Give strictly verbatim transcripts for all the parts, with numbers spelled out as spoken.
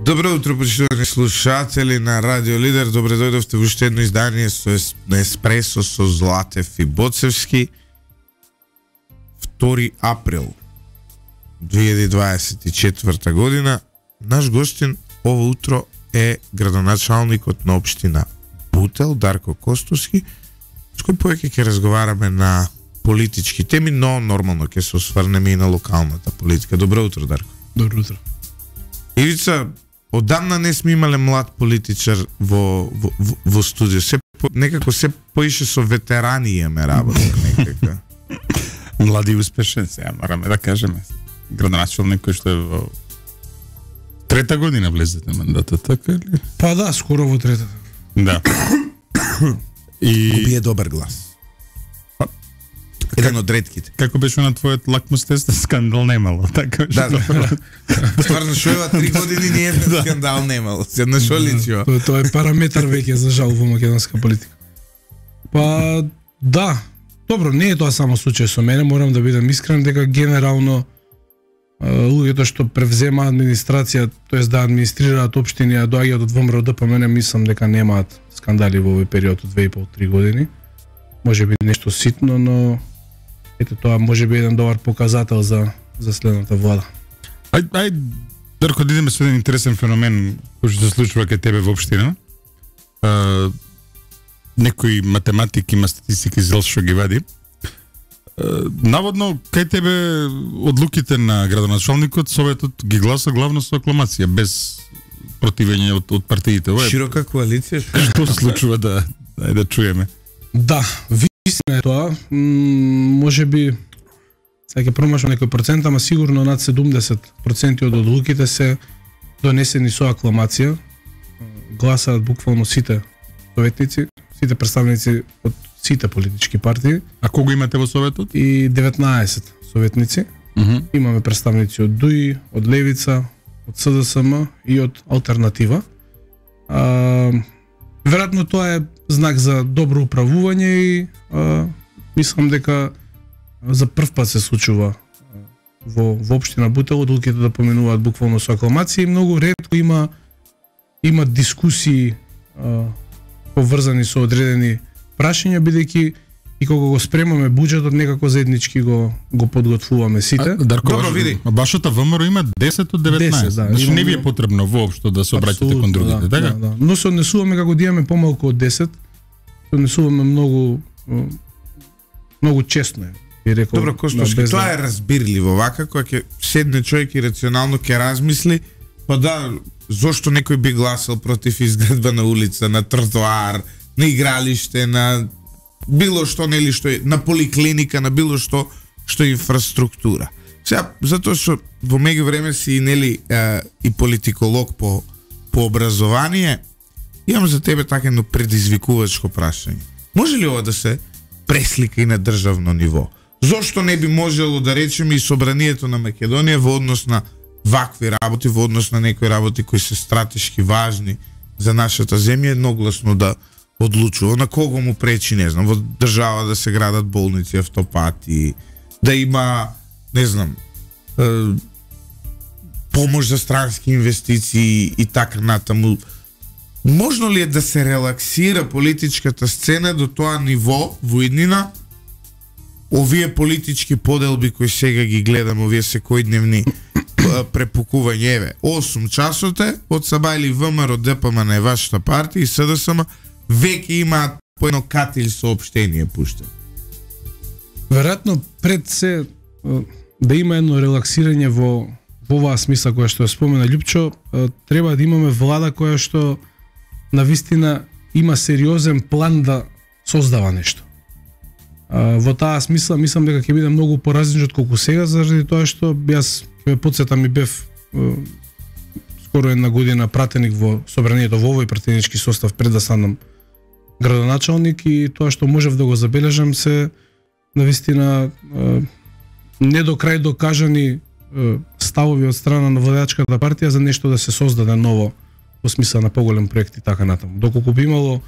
Добро утро, почитувани слушатели на Радио Лидер. Добре дојдовте во уште едно издание со на Еспресо со Златев и Боцевски. втори април две илјади дваесет и четврта година. Наш гостин ово утро е градоначалникот на општина Бутел, Дарко Костовски, с кој повеќе ќе разговараме на политички теми, но нормално ќе се осврнеме и на локалната политика. Добро утро, Дарко. Добро утро. Ивица, одамна не сме имале млад политичар во, во, во, во студио. Се, по, некако се поише со ветерани имаме работа. Некако. Млади и успешен, сега мораме да кажеме. Градоначалник кој што е во трета година влезете мандата, така или? Па да, скоро во третата. Да. И Убие добар глас. Еден од ретките. како беше на твојот лакмус тест, скандал немало, така беше. Да, да. Стварно шо ева три години ни еден скандал немало. Седна шо личио. Тоа, тоа е параметар веќе за жал во македонска политика. Па да, добро, не е тоа само случај со мене, морам да бидам искрен дека генерално луѓето што превзема администрација, тоест да администрираат општини, а доаѓаат од ВМРО Д П М Н, мислам дека немаат скандали во овој период од две и пол до три години. Може би нешто ситно, но ете тоа може би еден добар показател за за следната влада. Ај, ај, Дарко, да идеме со еден интересен феномен кој што се случува кај тебе во општина. А, некој математик има статистики зел што ги вади. А, наводно, кај тебе одлуките на градоначалникот, советот ги гласа главно со акламација, без противење од, од партиите. Ова е, Широка коалиција. што се случува да, да, да чуеме? Да, вистина е тоа. М, може би сега ќе промашам некој процент, ама сигурно над седумдесет проценти од одлуките се донесени со акламација. Гласаат буквално сите советници, сите представници од сите политички партии А кого имате во советот? и деветнаесет советници. Uh -huh. Имаме представници од Д У И, од Левица, од С Д С М и од Алтернатива. А, веројатно тоа е знак за добро управување и а, мислам дека за прв пат се случува во во општина Бутел одлуките да поминуваат буквално со акламација и многу ретко има има дискусии а, поврзани со одредени прашања, бидејќи и кога го спремаме буџетот некако заеднички го го подготвуваме сите. А, Дарко, Добро, ваш- види. а вашата В М Р има десет од деветнаесет. десет, да, Значи не ви е имаме- потребно воопшто да се обраќате кон другите, да, така? Да, да. Но се однесуваме како да имаме помалку од десет. Се однесуваме многу м, многу честно е. Би рекол. Добро, Костовски, да, без тоа да- е разбирливо. Вака, кога ќе седне човек и рационално ќе размисли, па да, зошто некој би гласал против изградба на улица, на тротоар, на игралиште, на било што, нели, што е, на поликлиника, на било што, што е инфраструктура. Сега, затоа што во меѓувреме си, нели, е, и политиколог по, по образование, имам за тебе така едно предизвикувачко прашање. Може ли ова да се преслика и на државно ниво? Зошто не би можело да речеме и собранието на Македонија во однос на вакви работи, во однос на некои работи кои се стратешки важни за нашата земја, едногласно да одлучува? На кого му пречи, не знам, во држава да се градат болници, автопати, да има, не знам, е, помош за странски инвестиции и така натаму. Можно ли е да се релаксира политичката сцена до тоа ниво во иднина? Овие политички поделби кои сега ги гледаме, овие секојдневни препукување, еве, осум часоте од Сабајли В М Р Д П М Н, вашата партија и С Д С М веќе имаат по едно катил соопштение пуштено. Веројатно пред се е, да има едно релаксирање во во оваа смисла која што ја спомена Љупчо, е, треба да имаме влада која што навистина има сериозен план да создава нешто. А, во таа смисла мислам дека ќе биде многу поразлично од колку сега, заради тоа што јас ќе ме потсетам и бев е, скоро една година пратеник во собранието во овој пратенички состав пред да станам градоначалник и тоа што можев да го забележам се навистина е, не до крај докажани е, ставови од страна на владеачката партија за нешто да се создаде ново во смисла на поголем проект и така натаму. Доколку би имало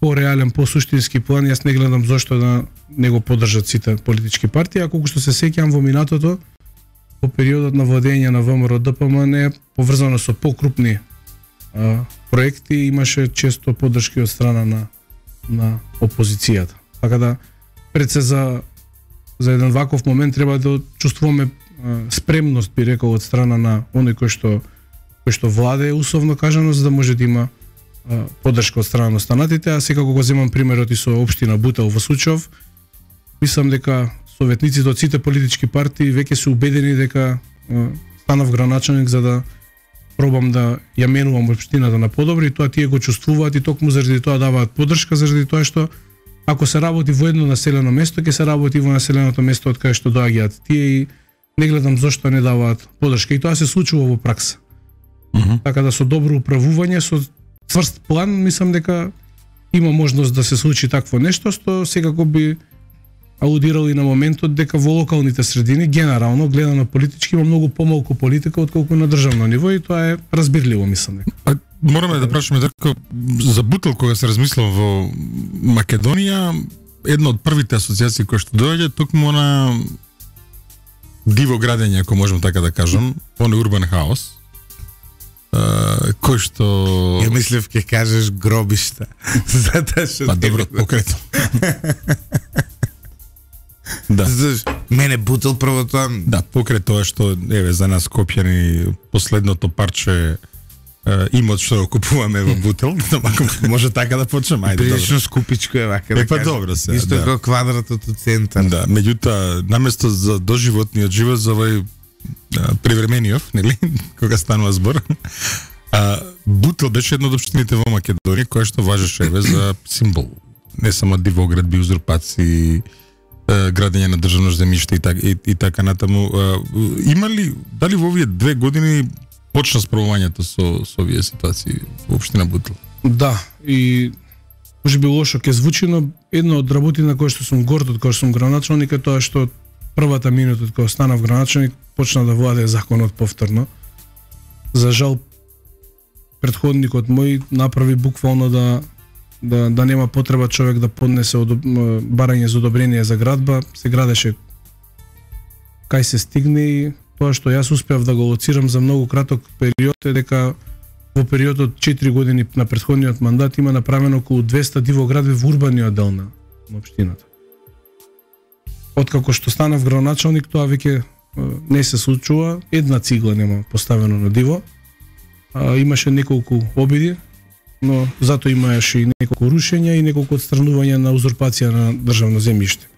по-реален, по-суштински план, јас не гледам зошто да не го поддржат сите политички партии, а колку што се сеќавам во минатото, во периодот на владење на ВМРО Д П М Н поврзано со покрупни а, проекти имаше често поддршки од страна на на опозицијата. Така да пред се за за еден ваков момент треба да чувствуваме а, спремност, би рекол, од страна на оној кој што кој што владее, условно кажано, за да може да има а, поддршка од страна на останатите. А секако го земам примерот и со општина Бутел во Сучов. Мислам дека советниците од сите политички партии веќе се убедени дека а, станав граначалник за да пробам да ја менувам општината на подобро, и тоа тие го чувствуваат и токму заради тоа даваат поддршка, заради тоа што ако се работи во едно населено место, ќе се работи во населеното место од кај што доаѓаат тие, и не гледам зошто не даваат поддршка, и тоа се случува во пракса. Uh -huh. Така да со добро управување, со цврст план, мислам дека има можност да се случи такво нешто, што секако би алудирал и на моментот дека во локалните средини, генерално гледано политички, има многу помалку политика отколку на државно ниво, и тоа е разбирливо, мислам дека. А, мораме да прашаме дека за Бутел, кога се размислил во Македонија, една од првите асоциации кои што доаѓа токму на диво градење, ако можам така да кажам, он урбан хаос, Uh, кој што... Ја мислев ќе кажеш гробишта. Затоа што... Па добро, покрето. Да. Мене Бутел прво тоа... Да, покрај тоа што, еве, за нас Скопјани, последното парче uh, имот што купуваме во Бутел, може така да почнем, ајде. Прилично скупичко е вака да е, па кажем. добро се. Исто да. како квадратот од центар. Да, меѓутоа, наместо за доживотниот живот, за овој привремениот, нели, кога станува збор, а, Бутел беше една од општините во Македонија која што важеше еве за символ. Не само дивоградби, узурпации, градење на државно земјиште и така и, и така натаму. А, има ли, дали во овие две години почна справувањето со со овие ситуации во општина Бутел? Да, и може би лошо ќе звучи, но една од работи на која што сум горд од која сум граначалник е тоа што првата минута кога станав граначалник почна да владее законот повторно. За жал претходникот мој направи буквално да да да нема потреба човек да поднесе одоб... барање за одобрение за градба, се градеше кај се стигне, и тоа што јас успеав да го лоцирам за многу краток период е дека во период од четири години на претходниот мандат има направено околу двеста дивоградби во урбаниот дел на општината. Откако што станав градоначалник, тоа веќе не се случува, една цигла нема поставено на диво. А, имаше неколку обиди, но затоа имаше и неколку рушења и неколку отстранувања на узурпација на државно земјиште.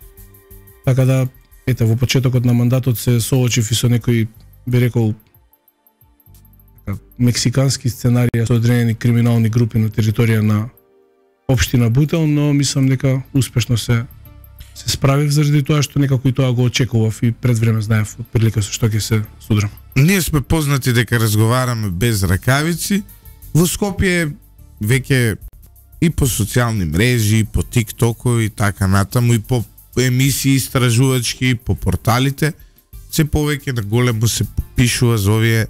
Така да, ете, во почетокот на мандатот се соочив и со некои, би рекол, мексикански сценарија со одредени криминални групи на територија на општина Бутел, но мислам дека успешно се се справив заради тоа што некако и тоа го очекував и пред време знаев отприлика со што ќе се судрам. Ние сме познати дека разговараме без ракавици. Во Скопје веќе и по социјални мрежи, и по тиктоко и така натаму, и по емисии истражувачки, и по порталите, се повеќе на големо се пишува за овие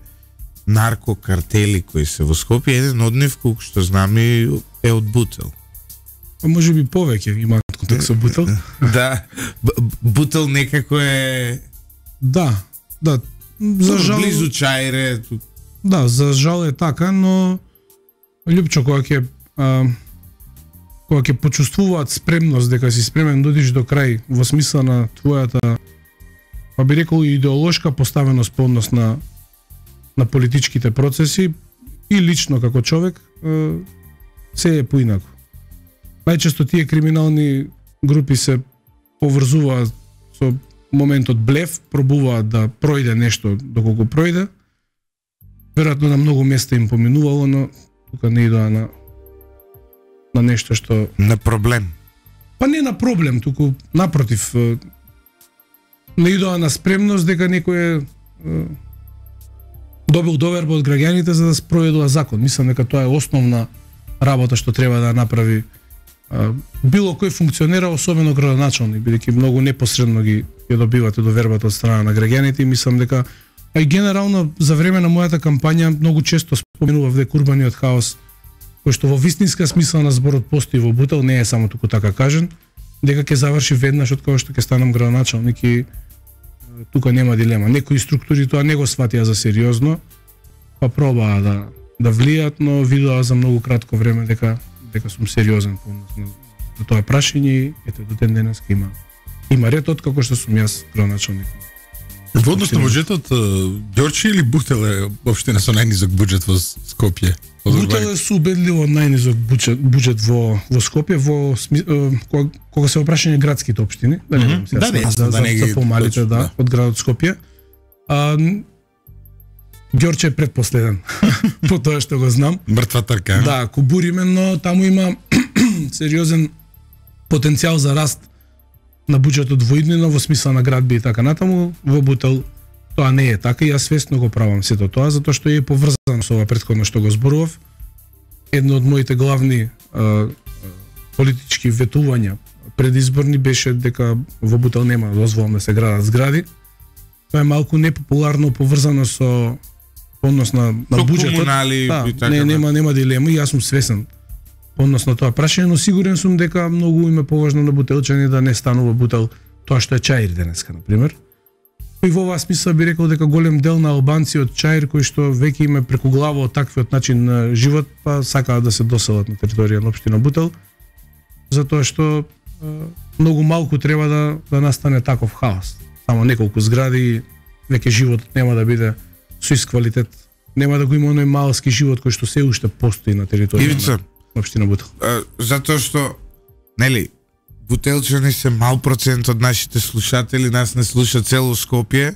наркокартели кои се во Скопје. Еден од нив, колку што знаме, е од Бутел. А може би повеќе имаат контакт со Бутел. Да, Бутел некако е... Да, да. За жал... Близу Чајре. Да, за жал е така, но Лјупчо, кога ќе а, кога ќе почувствуваат спремност дека си спремен да одиш до крај во смисла на твојата, па би рекол, идеолошка поставеност по однос на на политичките процеси и лично како човек, а, се е поинако. Најчесто тие криминални групи се поврзуваат со моментот блеф, пробуваат да пројде нешто доколку пројде. Веројатно на многу места им поминувало, но тука не идоа на на нешто што... На проблем. Па не на проблем, туку напротив, не идоа на спремност дека некој е добил доверба од граѓаните за да спроведува закон. Мислам дека тоа е основна работа што треба да направи било кој функционера, особено градоначалник, бидејќи многу непосредно ги ја добивате довербата од страна на граѓаните, и мислам дека, а и генерално за време на мојата кампања многу често споменував дека урбаниот хаос, кој што во вистинска смисла на зборот постои во Бутел, не е само туку така кажен, дека ќе заврши веднаш од кога што ќе станам градоначалник, и тука нема дилема. Некои структури тоа не го сватија за сериозно, па пробаа да да влијат, но видоа за многу кратко време дека дека сум сериозен по однос на, на тоа прашање и ете до ден денес има има ред од како што сум јас градоначалник. Во однос на буџетот, Ѓорче или Бутел е општина со најнизок буџет во Скопје? Бутел е со убедливо најнизок буџет, буџет во во Скопје, во кога, кога се опрашање градските општини, да не знам да, не, за, да, за, не за ги, помалите, точно, да, да, од градот Скопје. А, Ѓорче е предпоследен по тоа што го знам. Мртва трка. Да, Кубуриме, но таму има сериозен потенцијал за раст на буџетот во иднина во смисла на градби и така натаму. Во Бутел тоа не е така и јас свесно го правам сето тоа затоа што е поврзано со ова претходно што го зборував. Едно од моите главни а, политички ветувања предизборни беше дека во Бутел нема да дозволам да се градат згради. Тоа е малку непопуларно поврзано со однос на на Со буџетот. комунали Да, и така. не нема нема дилема и јас сум свесен однос на тоа прашање, но сигурен сум дека многу им е поважно на бутелчани да не станува Бутел тоа што е Чаир денеска, на пример. И во оваа смисла би рекол дека голем дел на албанци од Чаир кои што веќе им е преку глава од таквиот начин на живот, па сакаат да се доселат на територија на општина Бутел, затоа што е, многу малку треба да да настане таков хаос. Само неколку згради, веќе животот нема да биде со ист квалитет. Нема да го има оној малски живот кој што се уште постои на територија Ивица, на општина Бутел. а, затоа што нели бутелчани се мал процент од нашите слушатели, нас не слуша цело Скопје,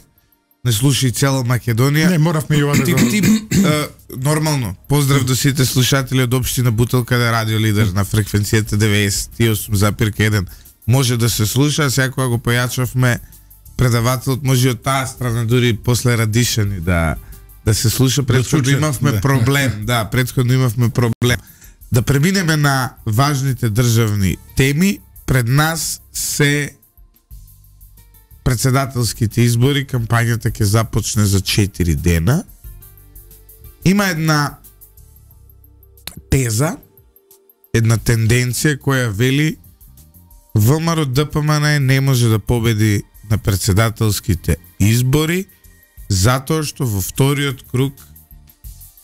не слуша и цела Македонија. Не, моравме и ова да Ти, го... ти, а, нормално, поздрав до сите слушатели од општина Бутел, каде радио лидер на фреквенцијата деветдесет и осум запирка еден може да се слуша, сега кога го појачавме предавателот може од таа страна дури после Радишани да да се слуша, претходно чуче, имавме да. проблем, да, претходно имавме проблем. Да преминеме на важните државни теми, пред нас се председателските избори, кампањата ќе започне за четири дена. Има една теза, една тенденција која вели ВМРО Д П М Н не може да победи на председателските избори затоа што во вториот круг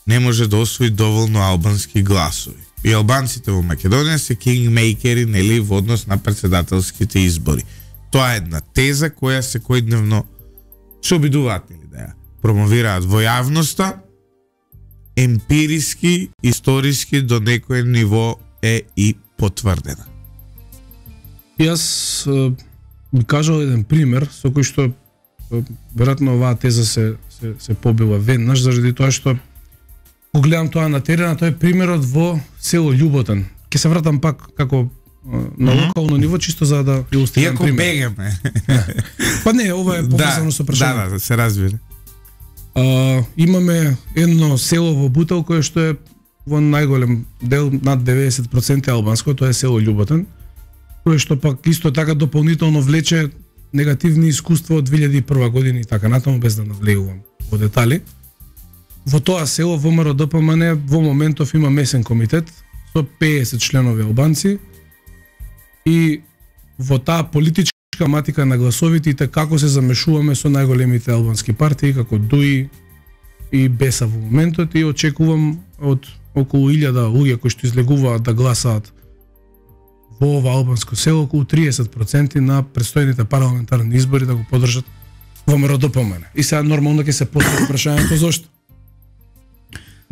не може да освои доволно албански гласови. И албанците во Македонија се кингмейкери, нели, во однос на председателските избори. Тоа е една теза која секојдневно се обидуваат нели да ја промовираат во јавноста, емпириски, историски до некој ниво е и потврдена. Јас е, би кажал еден пример со кој што е, веројатно оваа теза се се се побила веднаш заради тоа што го гледам тоа на терена, тоа е примерот во село Љуботан. Ќе се вратам пак како е, на локално ниво чисто за да илустрирам Иако пример. бегаме. Па не, ова е поврзано со прашање. Да, да, се разбира. А, имаме едно село во Бутел кое што е во најголем дел над деветдесет проценти албанско, тоа е село Љуботан, кое што пак исто така дополнително влече негативни искуства од две илјади и прва година и така натаму, без да навлегувам во детали. Во тоа село ВМРО Д П М Н во моментов има месен комитет со пеесет членови албанци и во таа политичка матика на гласовите и како се замешуваме со најголемите албански партии како Д У И и Беса во моментот и очекувам од околу илјада луѓе кои што излегуваат да гласаат во ова албанско село околу триесет проценти на предстојните парламентарни избори да го поддржат ВМРО Д П М Н. И сега нормално ќе се постави прашањето зошто?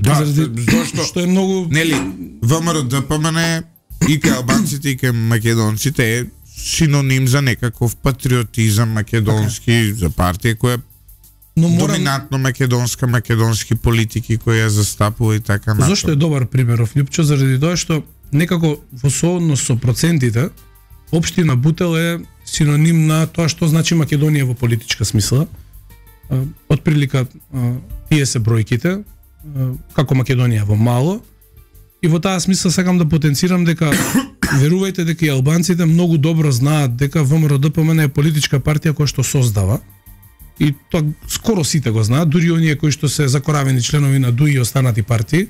Да, Заради зошто? што е многу Нели, ВМРО Д П М Н и кај албанците и кај македонците е синоним за некаков патриотизам македонски, за партија која е но морам доминантно македонска, македонски политики која ја застапува и така натаму. Зошто е добар примеров Лјупчо? Заради тоа што некако во сооднос со процентите општина Бутел е синоним на тоа што значи Македонија во политичка смисла. Од прилика тие се бројките како Македонија во мало и во таа смисла сакам да потенцирам дека верувајте дека и албанците многу добро знаат дека ВМРО Д П М Н е политичка партија која што создава и тоа скоро сите го знаат, дури оние кои што се закоравени членови на Д У И и останати партии.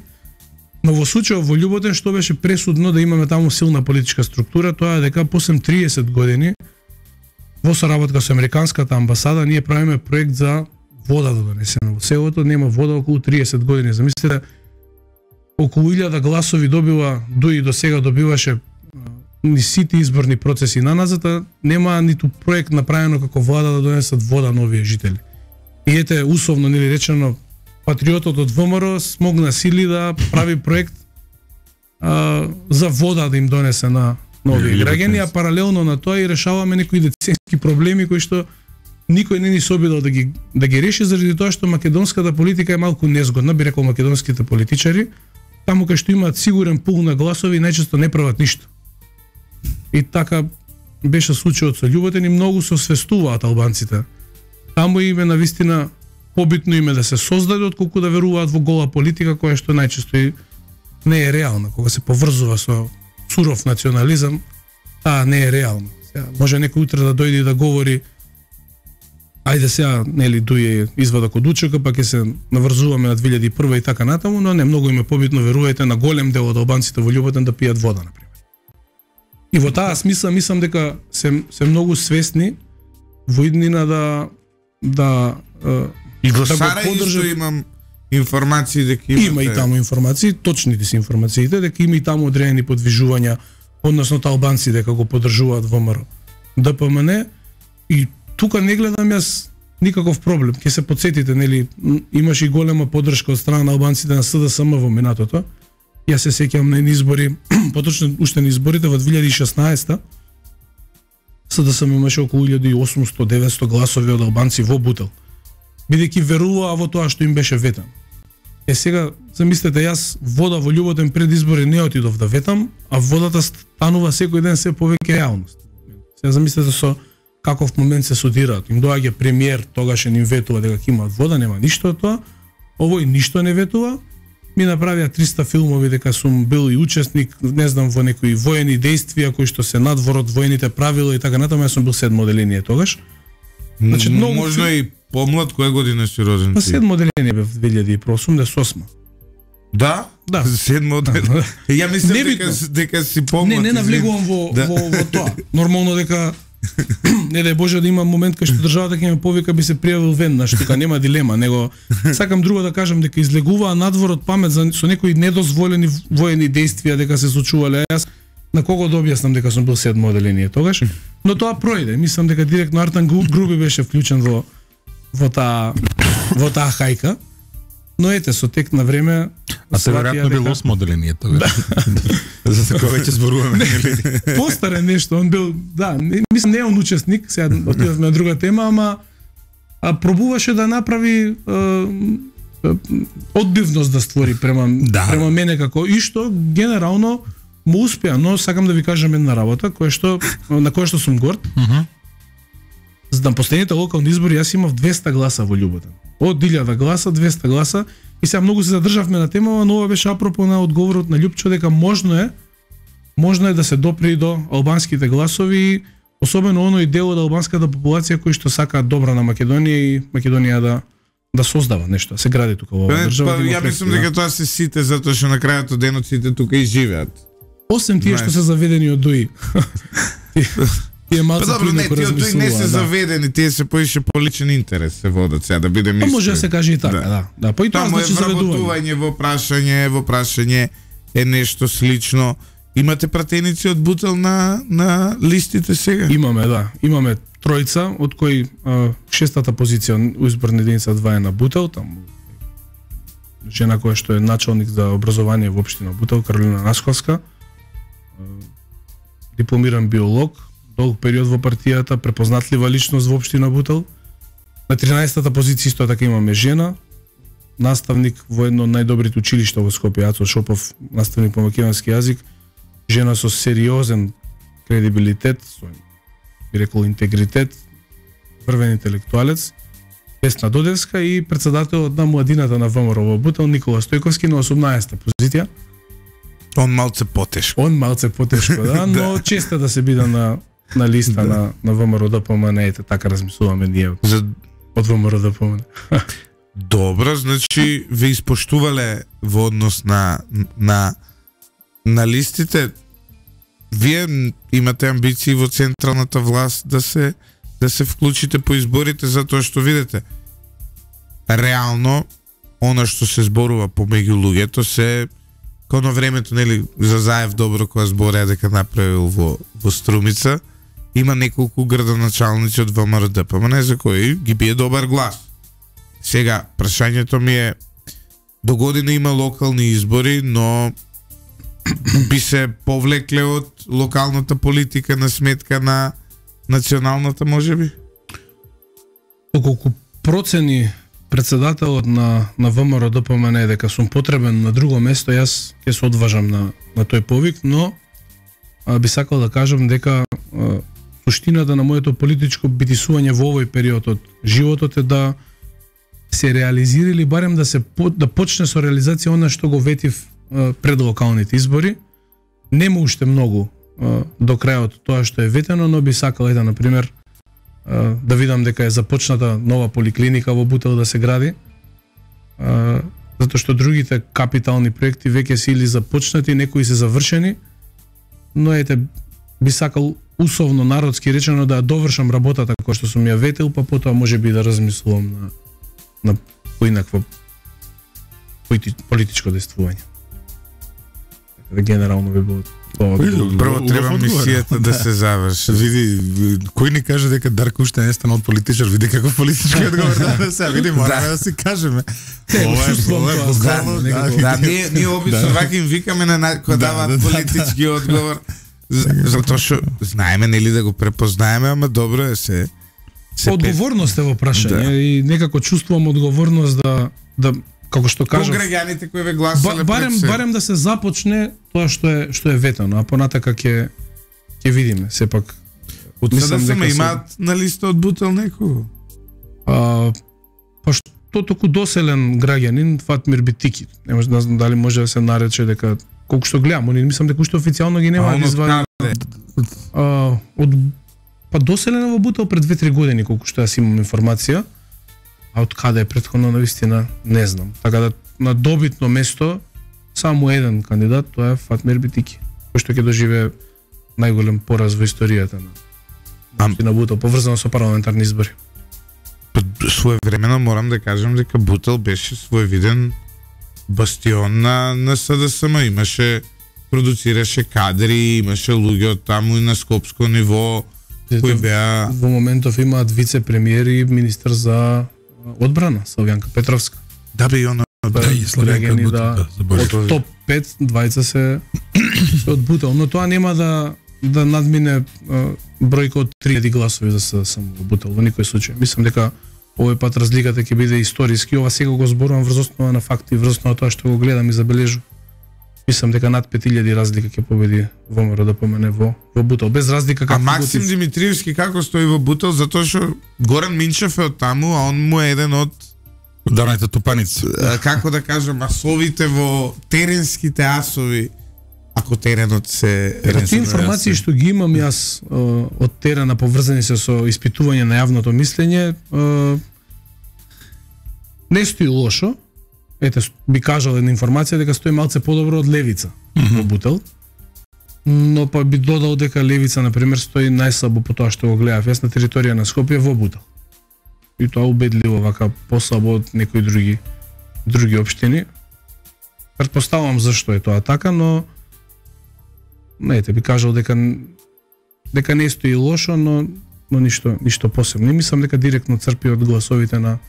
Но во случајот во Љуботен што беше пресудно да имаме таму силна политичка структура, тоа е дека после триесет години во соработка со американската амбасада ние правиме проект за вода да донесеме во селото, нема вода околу триесет години. Замислете околу илјада гласови добива, дуи до сега добиваше ни сите изборни процеси на назад, нема ниту проект направено како влада да донесат вода на овие жители. И ете, условно нели речено, патриотот од ВМРО смогна сили да прави проект а, за вода да им донесе на, на овие граѓани, а паралелно на тоа и решаваме некои деценски проблеми кои што никој не ни се обидел да ги да ги реши заради тоа што македонската политика е малку незгодна, би рекол македонските политичари, таму кај што имаат сигурен пул на гласови најчесто не прават ништо. И така беше случајот со Љуботин и многу се освестуваат албанците. Таму им е навистина побитно име да се создаде отколку да веруваат во гола политика која што најчесто и не е реална. Кога се поврзува со суров национализам, таа не е реална. Сега, може некој утре да дојде и да говори ајде сега, нели, дуе извадок од учека, па ќе се наврзуваме на две илјади и прва и така натаму, но не многу им е побитно, верувајте, на голем дел од албанците во Љуботин да пијат вода, например. И во таа смисла мислам дека се се многу свесни во иднина да да и во да Сарај исто имам информации дека имате... Има и таму информации, точните се информациите, дека има и таму одредени подвижувања, односно албанци дека го поддржуваат ВМРО Д П М Н и тука не гледам јас никаков проблем. Ќе се потсетите, нели, имаше и голема поддршка од страна на албанците на С Д С М во минатото. Јас се сеќавам на избори, поточно уште на изборите во две илјади и шеснаесета. С Д С М имаше околу илјада и осумсто до деветсто гласови од албанци во Бутел, бидејќи веруваа во тоа што им беше ветан. Е сега, замислете, јас вода во Љуботин пред избори не отидов да ветам, а водата станува секој ден се повеќе реалност. Сега замислете со каков момент се судираат. Им доаѓа премиер, тогаш им ветува дека ќе имаат вода, нема ништо од тоа. Овој ништо не ветува. Ми направија триста филмови дека сум бил и учесник, не знам, во некои воени дејствија кои што се надвор од воените правила и така натаму, јас сум бил седмо оделение тогаш. Значи, многу можно фил... и помлад, која година си роден? Па седмо оделение бев две илјади и осумдесет и осма. Да? Да. Седмо оделение. Ја мислам дека, дека си помлад. Не, не навлегувам во, да. во, во тоа. Нормално дека не дај Боже да има момент кај што државата ќе ме повика, би се пријавил веднаш, тука нема дилема, него сакам друго да кажам дека излегуваа надвор од памет за со некои недозволени воени дејствија дека се случувале. Јас на кого да објаснам дека сум бил седмо оделение тогаш, но тоа пројде. Мислам дека директно Артан Груби беше вклучен во во таа во таа хајка. Но ете, со тек на време... А се веројатно бил осмо оделение тоа. За такова веќе зборуваме. Постаре нешто, он бил, да, не, мислам не е он учесник, сега отидовме на друга тема, ама а пробуваше да направи а, одбивност да створи према да. према мене како и што генерално му успеа, но сакам да ви кажам една работа која што на која што сум горд. Uh -huh. За на последните локални избори јас имав двеста гласа во Љуботин. Од илјада гласа, двеста гласа. И сега многу се задржавме на темава, но ова беше апропо на одговорот на Љупчо дека можно е можно е да се допри до албанските гласови, особено оној дел од албанската популација кој што сака добра на Македонија и Македонија да да создава нешто, се гради тука во оваа држава. Па, ја мислам дека тоа се сите затоа што на крајот од денот сите тука и живеат. Осем тие што се заведени од ДУИ. Тие малку па добро, не, тие од ДУИ не се да. заведени, тие се поише по личен интерес се водат сега да бидеме искрени. А може да се каже и така, да. Да, да. Па и тоа значи заведување. Во прашање, во прашање е нешто слично. Имате пратеници од Бутел на на листите сега? Имаме, да. Имаме тројца, од кои а, шестата позиција у изборна единица два е на Бутел, таму жена која што е началник за образование во општина Бутел, Каролина Насковска, дипломиран биолог, долг период во партијата, препознатлива личност во општина Бутел. На тринаесетата позиција исто така имаме жена, наставник во едно од најдобрите училишта во Скопје, Ацо Шопов, наставник по македонски јазик, жена со сериозен кредибилитет, со би рекол интегритет, врвен интелектуалец, Весна Додевска и председателот на младината на ВМРО во Бутел Никола Стојковски на осумнаесета позиција. Он малце потешко. Он малце потешко, да, но да. Често да се биде на на листа да. на на ВМРО Д П М Н, ете така размислуваме ние за од ВМРО Д П М Н. Добро, значи ве испоштувале во однос на на на листите. Вие имате амбиции во централната власт да се да се вклучите по изборите, затоа што видите реално она што се зборува помеѓу луѓето се коно времето, нели, за Заев добро кога збореа дека направил во, во Струмица, има неколку градоначалници од ВМРО, па не за кои ги бие добар глас. Сега, прашањето ми е, до година има локални избори, но би се повлекле од локалната политика на сметка на националната, можеби? Доколку процени председателот на на ВМРО-ДПМН е дека сум потребен на друго место, јас ќе се одважам на на тој повик, но а, би сакал да кажам дека а, суштината на моето политичко битисување во овој период од животот е да се реализира или барем да се да почне со реализација она што го ветив а, пред локалните избори. Нема уште многу а, до крајот тоа што е ветено, но би сакал ета на пример да видам дека е започната нова поликлиника во Бутел да се гради, затоа што другите капитални проекти веќе се или започнати, некои се завршени, но ете, би сакал усовно народски речено да довршам работата која што сум ја ветил, па потоа може би да размислувам на, на поинакво политичко действување. Генерално би било тоа. Прво треба мисијата да се заврши. Види, кој ни каже дека Дарко уште не станал политичар, види каков политички одговор да се, види, мораме да си кажеме. Ова е буквално. Да, ние ние обично вака им викаме на кога даваат политички одговор, затоа што знаеме нели да го препознаеме, ама добро е се. Одговорност е во прашање и некако чувствувам одговорност да да како што кажав, граѓаните кои ве гласале, барем барем да се започне тоа што е што е ветено, а понатака ќе ќе видиме сепак. Мислам дека имаат на листа од Бутел некого. А па што току доселен граѓанин Фатмир Битики. Не може да знам дали може да се нарече дека колку што гледам, они мислам дека уште официјално ги нема извадени. А од па доселен во Бутел пред две-три години колку што јас имам информација. А од каде е претходно навистина не знам. Така да на добитно место само еден кандидат, тоа е Фатмир Битики, кој што ќе доживее најголем пораз во историјата на Ам... на Бутел, поврзано со парламентарни избори. Своевремено морам да кажам дека Бутел беше своевиден бастион на, на СДСМ. Имаше, продуцираше кадри, имаше луѓе од таму и на скопско ниво, кои беа... Во моментов имаат вице-премиер и министер за одбрана, Славјанка Петровска. Да бе, и она да, и Славјанка да, од топ пет, двајца се од Бутел, но тоа нема да да надмине бројка од три илјади гласови за се само во Бутел во никој случај. Мислам дека овој пат разликата ќе биде историски, ова сега го зборувам врз основа на факти, врз основа тоа што го гледам и забележувам. Мислам дека над пет илјади разлика ќе победи ВМРО-ДПМН во во Бутел, без разлика како. А Максим Димитриевски како стои во Бутел, затоа што Горан Минчев е од таму, а он му е еден од ударните тупаници. Како да кажам, асовите во теренските асови, ако теренот се... Тие информации што ги имам јас од терена поврзани се со испитување на јавното мислење, не стои лошо. Ете, би кажал една информација дека стои малце подобро од Левица mm -hmm. во Бутел. Но па би додал дека Левица, на пример, стои најслабо по тоа што го гледав јас на територија на Скопје во Бутел. И тоа убедливо, вака послабо од некои други други општини. Претпоставувам зашто е тоа така, но не, те би кажал дека дека не стои лошо, но но ништо ништо посебно. Не мислам дека директно црпи од гласовите на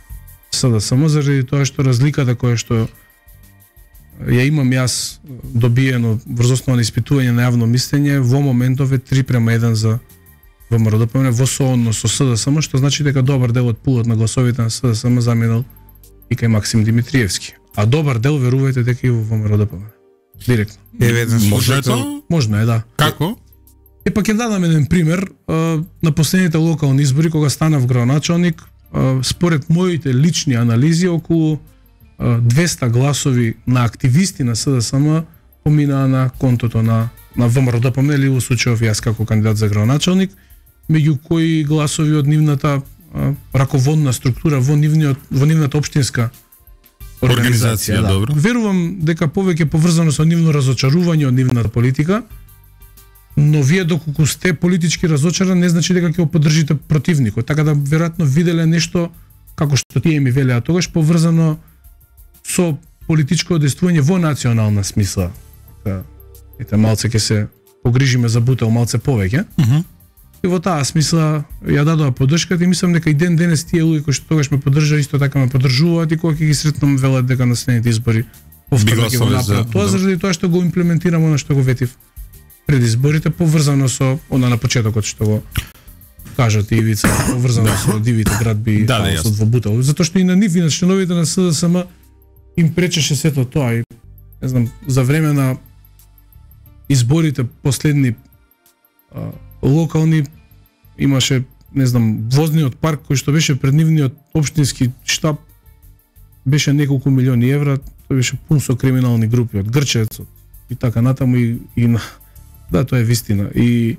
СДСМ заради тоа што разликата која што ја имам јас добиено врз основа на испитување на јавно мислење во моментов е три према еден за ВМРО-ДПМН во соодно со СДСМ, што значи дека добар дел од пулот на гласовите на СДСМ заминал и кај Максим Димитриевски. А добар дел верувајте дека и во ВМРО-ДПМН. Директно. Еве еден може е тоа? Можно е, да. Како? Е па ќе дадам еден пример. На последните локални избори кога станав градоначалник, според моите лични анализи околу двеста гласови на активисти на СДСМ поминаа на контото на на ВМРО-ДПМН или во случајов јас како кандидат за градоначалник, меѓу кои гласови од нивната а, раководна структура во нивниот во нивната општинска организација. организација да. Добро. Верувам дека повеќе поврзано со нивно разочарување од нивната политика, но вие доколку сте политички разочаран не значи дека ќе го поддржите противникот, така да веројатно виделе нешто како што тие ми велеа тогаш поврзано со политичко действување во национална смисла Та, ете малце ќе се погрижиме за Бутел малце повеќе. Uh -huh. И во таа смисла ја дадоа поддршката и мислам дека и ден денес тие луѓе кои што тогаш ме поддржаа исто така ме поддржуваат и кога ќе ги сретнам велат дека на следните избори повторно ќе го направат тоа заради тоа што го имплементирам она што го ветив пред изборите поврзано со она на почетокот што го кажат и Ивица, поврзано со дивите градби и да, хаосот во Бутел. Затоа што и на нив и на членовите на С Д С М им пречеше сето тоа и не знам за време на изборите последни а, локални имаше не знам возниот парк кој што беше пред нивниот општински штаб беше неколку милиони евра, тој беше пун со криминални групи од Грчевец и така натаму и, и на да тоа е вистина и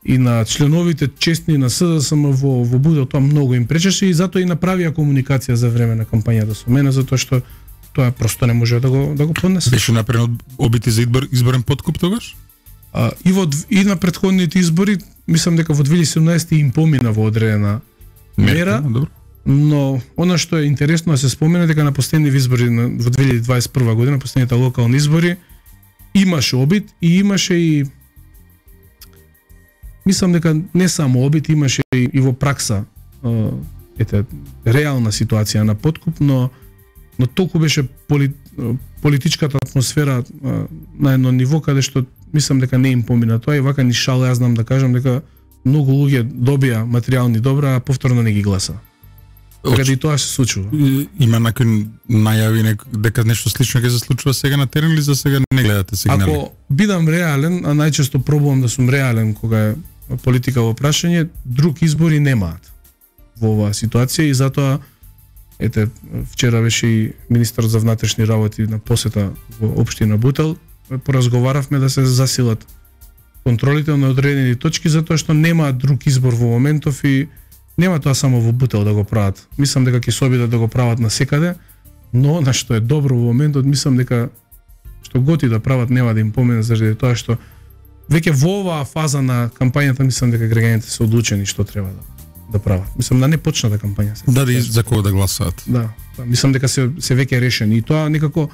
и на членовите честни на С Д С М во во Бутел тоа многу им пречеше и затоа и направија комуникација за време на кампањата со мене затоа што тоа просто не може да го да го поднесе. Беше направен обити за избор, изборен подкуп тогаш? А, и во и на претходните избори мислам дека во две илјади и седумнаесета им помина во одредена мера, добро. Но она што е интересно да се спомене дека на последните избори во две илјади дваесет и прва година, последните локални избори имаше обид и имаше и мислам дека не само обид, имаше и, и во пракса ете реална ситуација на подкуп, но но толку беше поли, политичката атмосфера на едно ниво каде што мислам дека не им помина тоа и вака ни шала, јас знам да кажам дека многу луѓе добија материјални добра, а повторно не ги гласа. Така да и тоа се случува. Има некои најави нек, дека нешто слично ќе се случува сега на терен или за сега не гледате сигнали? Ако бидам реален, а најчесто пробувам да сум реален кога е политика во прашање, друг избори немаат во оваа ситуација и затоа ете вчера беше и министерот за внатрешни работи на посета во општина Бутел, поразговаравме да се засилат контролите на одредени точки затоа што нема друг избор во моментов и нема тоа само во Бутел да го прават. Мислам дека ќе се обидат да го прават насекаде, но на што е добро во моментот мислам дека што готи да прават нема да им помине заради тоа што веќе во оваа фаза на кампањата мислам дека граѓаните се одлучени што треба да да прават. Мислам да не почната кампања се. Да, да за кого да гласаат. Да, да, мислам дека се се веќе решени и тоа некако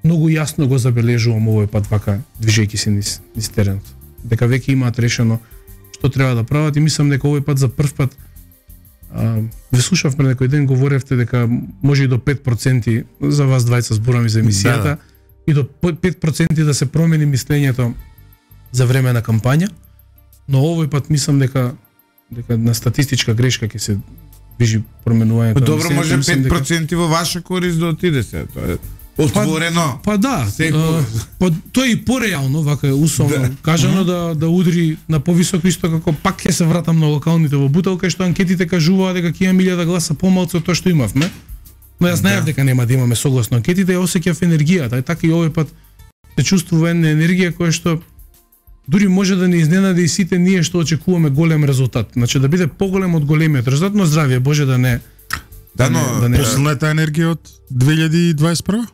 многу јасно го забележувам овој пат вака движејќи се низ, низ теренот. Дека веќе имаат решено што треба да прават и мислам дека овој пат за прв пат а, ве слушав пред некој ден говоревте дека може и до пет проценти за вас двајца зборам и за емисијата да. И до пет проценти да се промени мислењето за време на кампања, но овој пат мислам дека дека на статистичка грешка ќе се движи променувањето. Добро, може пет проценти дека во ваша корист да отиде се, тоа е отворено. Па, па да, Секу... па тоа е и пореално, вака условно да. кажано да да удри на повисоко исто како пак ќе се вратам на локалните во Бутел кај што анкетите кажуваат дека ќе имаме илјада гласа помалку од тоа што имавме. Но јас знаев да. дека нема да имаме согласно анкетите, ја осеќав енергијата, и така и овој пат се чувствува една енергија која што дури може да не изненади и сите ние што очекуваме голем резултат. Значи да биде поголем од големиот резултат, но здравје Боже да не да, но да не посилната енергија од две илјади дваесет и прва?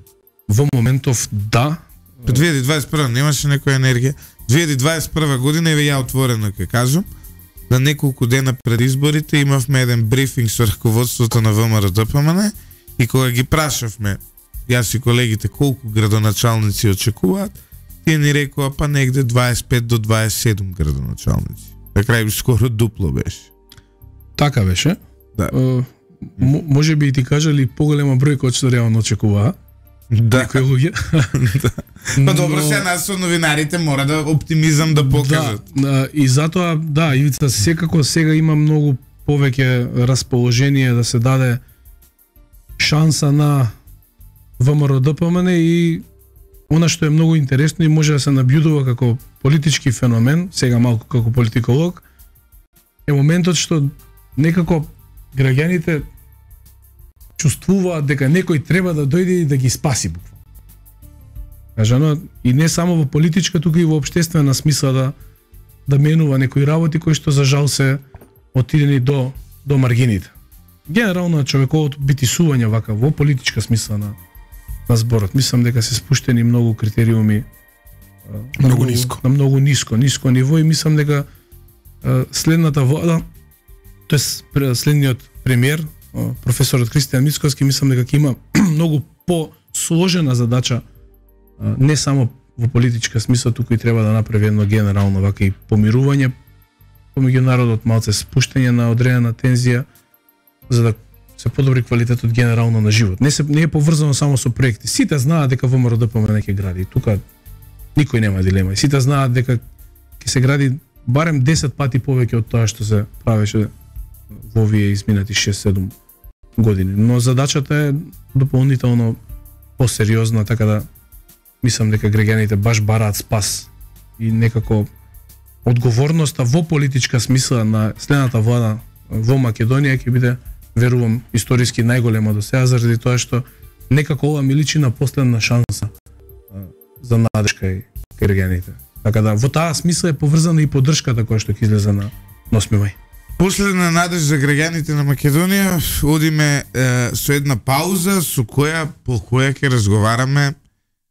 Во моментов да. По две илјади дваесет и прва немаше некоја енергија. две илјади дваесет и прва година еве ја отворено ќе кажам, на неколку дена пред изборите имавме еден брифинг со раководството на В М Р Д П М Н и кога ги прашавме јас и колегите колку градоначалници очекуваат, тие ни рекоа па негде дваесет и пет до дваесет и седум градоначалници. На крај скоро дупло беше. Така беше. Да. Uh, може би и ти кажали поголема бројка од што реално очекуваа. Да. Некои луѓе. Да. Па добро, се нас со новинарите мора да оптимизам да покажат. Да, и затоа да, Ивица секако сега има многу повеќе расположение да се даде шанса на В М Р Д П М Н и она што е многу интересно и може да се набљудува како политички феномен, сега малку како политиколог, е моментот што некако граѓаните чувствуваат дека некој треба да дојде и да ги спаси буквално. Кажано, и не само во политичка, туку и во општествена смисла да да менува некои работи кои што за жал се отидени до до маргините. Генерално човековото битисување вака во политичка смисла на на зборот. Мислам дека се спуштени многу критериуми многу, многу ниско. На многу ниско, ниско ниво и мислам дека следната влада, тоест следниот премиер, професорот Кристијан Мицкоски, мислам дека ќе има многу посложена задача не само во политичка смисла, туку и треба да направи едно генерално вака и помирување помеѓу народот, малце спуштање на одредена тензија, за да се подобри квалитетот генерално на живот. Не се не е поврзано само со проекти. Сите знаат дека ВМРО-ДПМН ќе гради. Тука никој нема дилема. И сите знаат дека ќе се гради барем десет пати повеќе од тоа што се правеше во овие изминати шест-седум години. Но задачата е дополнително посериозна, така да мислам дека граѓаните баш бараат спас и некако одговорноста во политичка смисла на следната влада во Македонија ќе биде, верувам, историски најголема до сега, заради тоа што некако ова ми личи на последна шанса за надежка и граѓаните. Така да во таа смисла е поврзана и поддршката која што ќе излезе на осми мај. Последна надеж за граѓаните на Македонија, одиме е, со една пауза со која по која ќе разговараме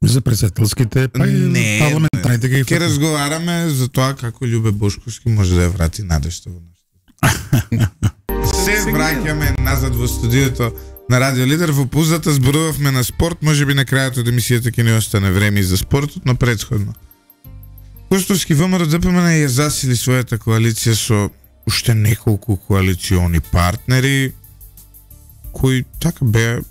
за председателските, па и парламентарните ги ќе разговараме за тоа како Љубе Бошковски може да ја врати надежта во нашата. Се враќаме назад во студиото на Радио Лидер. Во паузата зборувавме на спорт, можеби на крајот од емисијата ќе ни остане време и за спортот, но претходно. Костовски ВМРО-ДПМН ја засили својата коалиција со уште неколку коалициони партнери кои така беа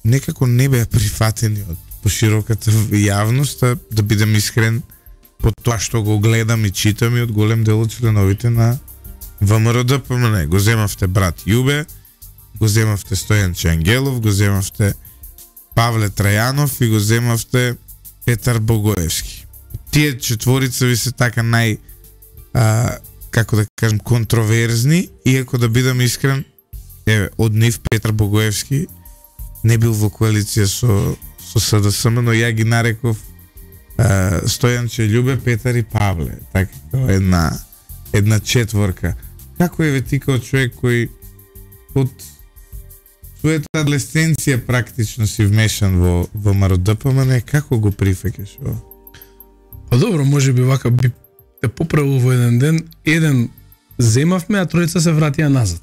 некако не беа прифатени од пошироката јавност, да бидам искрен, по тоа што го гледам и читам и од голем дел од членовите на ВМРО-ДПМН. Го земавте брат Јубе, го земавте Стојанче Ангелов, го земавте Павле Трајанов и го земавте Петар Богоевски. Тие четворица ви се така нај а, како да кажем контроверзни, иако да бидам искрен, е, од нив Петар Богоевски не бил во коалиција со со СДСМ, но ја ги нареков а, Стојанче, Љубе, Петар и Павле, така една една четворка. Како е ве ти као човек кој од својата адлесценција практично си вмешан во ВМРО-ДПМН, како го прифаќаш ова? Па добро, може би вака би те поправил во еден ден, еден земавме, а тројца се вратија назад.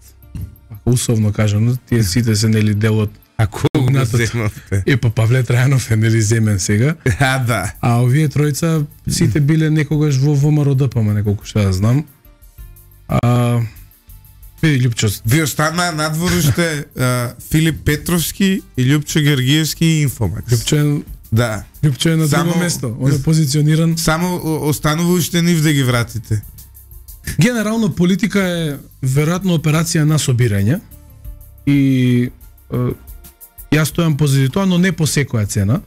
Вака условно кажано, тие сите се нели дел од А кого го земавте? Е, па Павле Трајанов е нели земен сега. А, да. А овие тројца сите биле некогаш во ВМРО-ДПМН, колку што ја знам. А, види Љупчо. Ви остана надвор уште Филип Петровски и Љупчо Георгиевски и Инфомакс. Љупчо е, да. Љупчо е на Само, друго место. Он е позициониран. Само останува уште нив да ги вратите. Генерално политика е веројатно операција на собирање и е, јас стојам позади тоа, но не по секоја цена.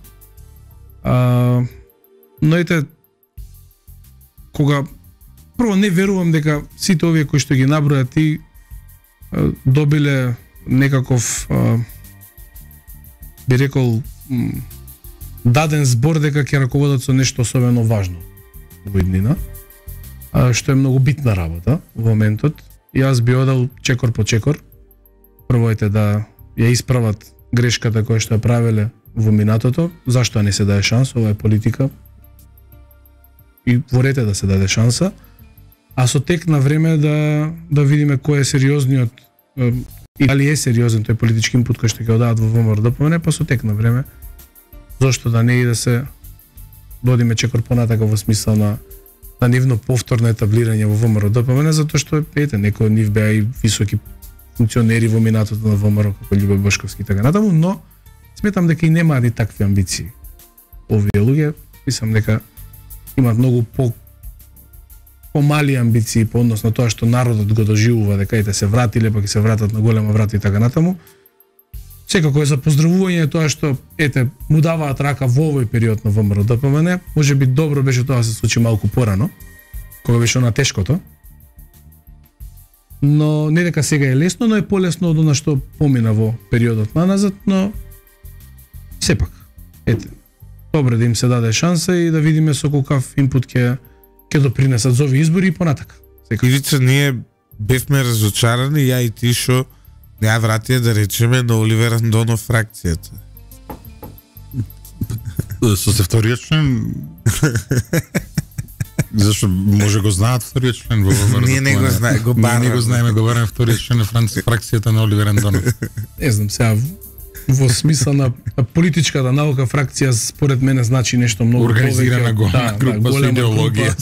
А, но ете, кога прво не верувам дека сите овие кои што ги наброја ти а, добиле некаков а, би рекол м, даден збор дека ќе раководат со нешто особено важно во иднина, а, што е многу битна работа во моментот. Јас би одел чекор по чекор. Прво ете да ја исправат грешката која што ја правеле во минатото, зашто не се даде шанса, ова е политика. И ворете да се даде шанса, а со тек на време да да видиме кој е сериозниот и дали е сериозен тој политички инпут кој што ќе одадат во ВМРО-ДПМН, па со тек на време зошто да не и да се додиме чекор понатака во смисла на на нивно повторно етаблирање во ВМРО-ДПМН, затоа што ете некои од нив беа и високи функционери во минатото на ВМРО како Љубе Бошковски и така натаму, но сметам дека и немаат и такви амбиции. Овие луѓе, мислам дека имаат многу по помали амбиции по однос на тоа што народот го доживува, дека ете се вратиле, па ќе се вратат на голема врата и така натаму. Секако е за поздравување тоа што ете му даваат рака во овој период на ВМРО-ДПМН. Може би добро беше тоа да се случи малку порано, кога беше она тешкото. Но не дека сега е лесно, но е полесно од она што помина во периодот на назад, но сепак, ете, добре да им се даде шанса и да видиме со колкав инпут ќе ќе допринесат за овие избори и понатака. Ивица, ние бевме разочарани, ја и ти, шо ја вратија да речеме на Оливер Андонов фракцијата. Со се вториот член зашто може го знаат вториот член во ВМРО. Ние не го знаеме, го бараме. бараме. Ние не го знаеме, го бараме вториот член на фракцијата на Оливер Андонов. Не знам, сега во смисла на политичката наука фракција според мене значи нешто многу организирана голема група со идеологија,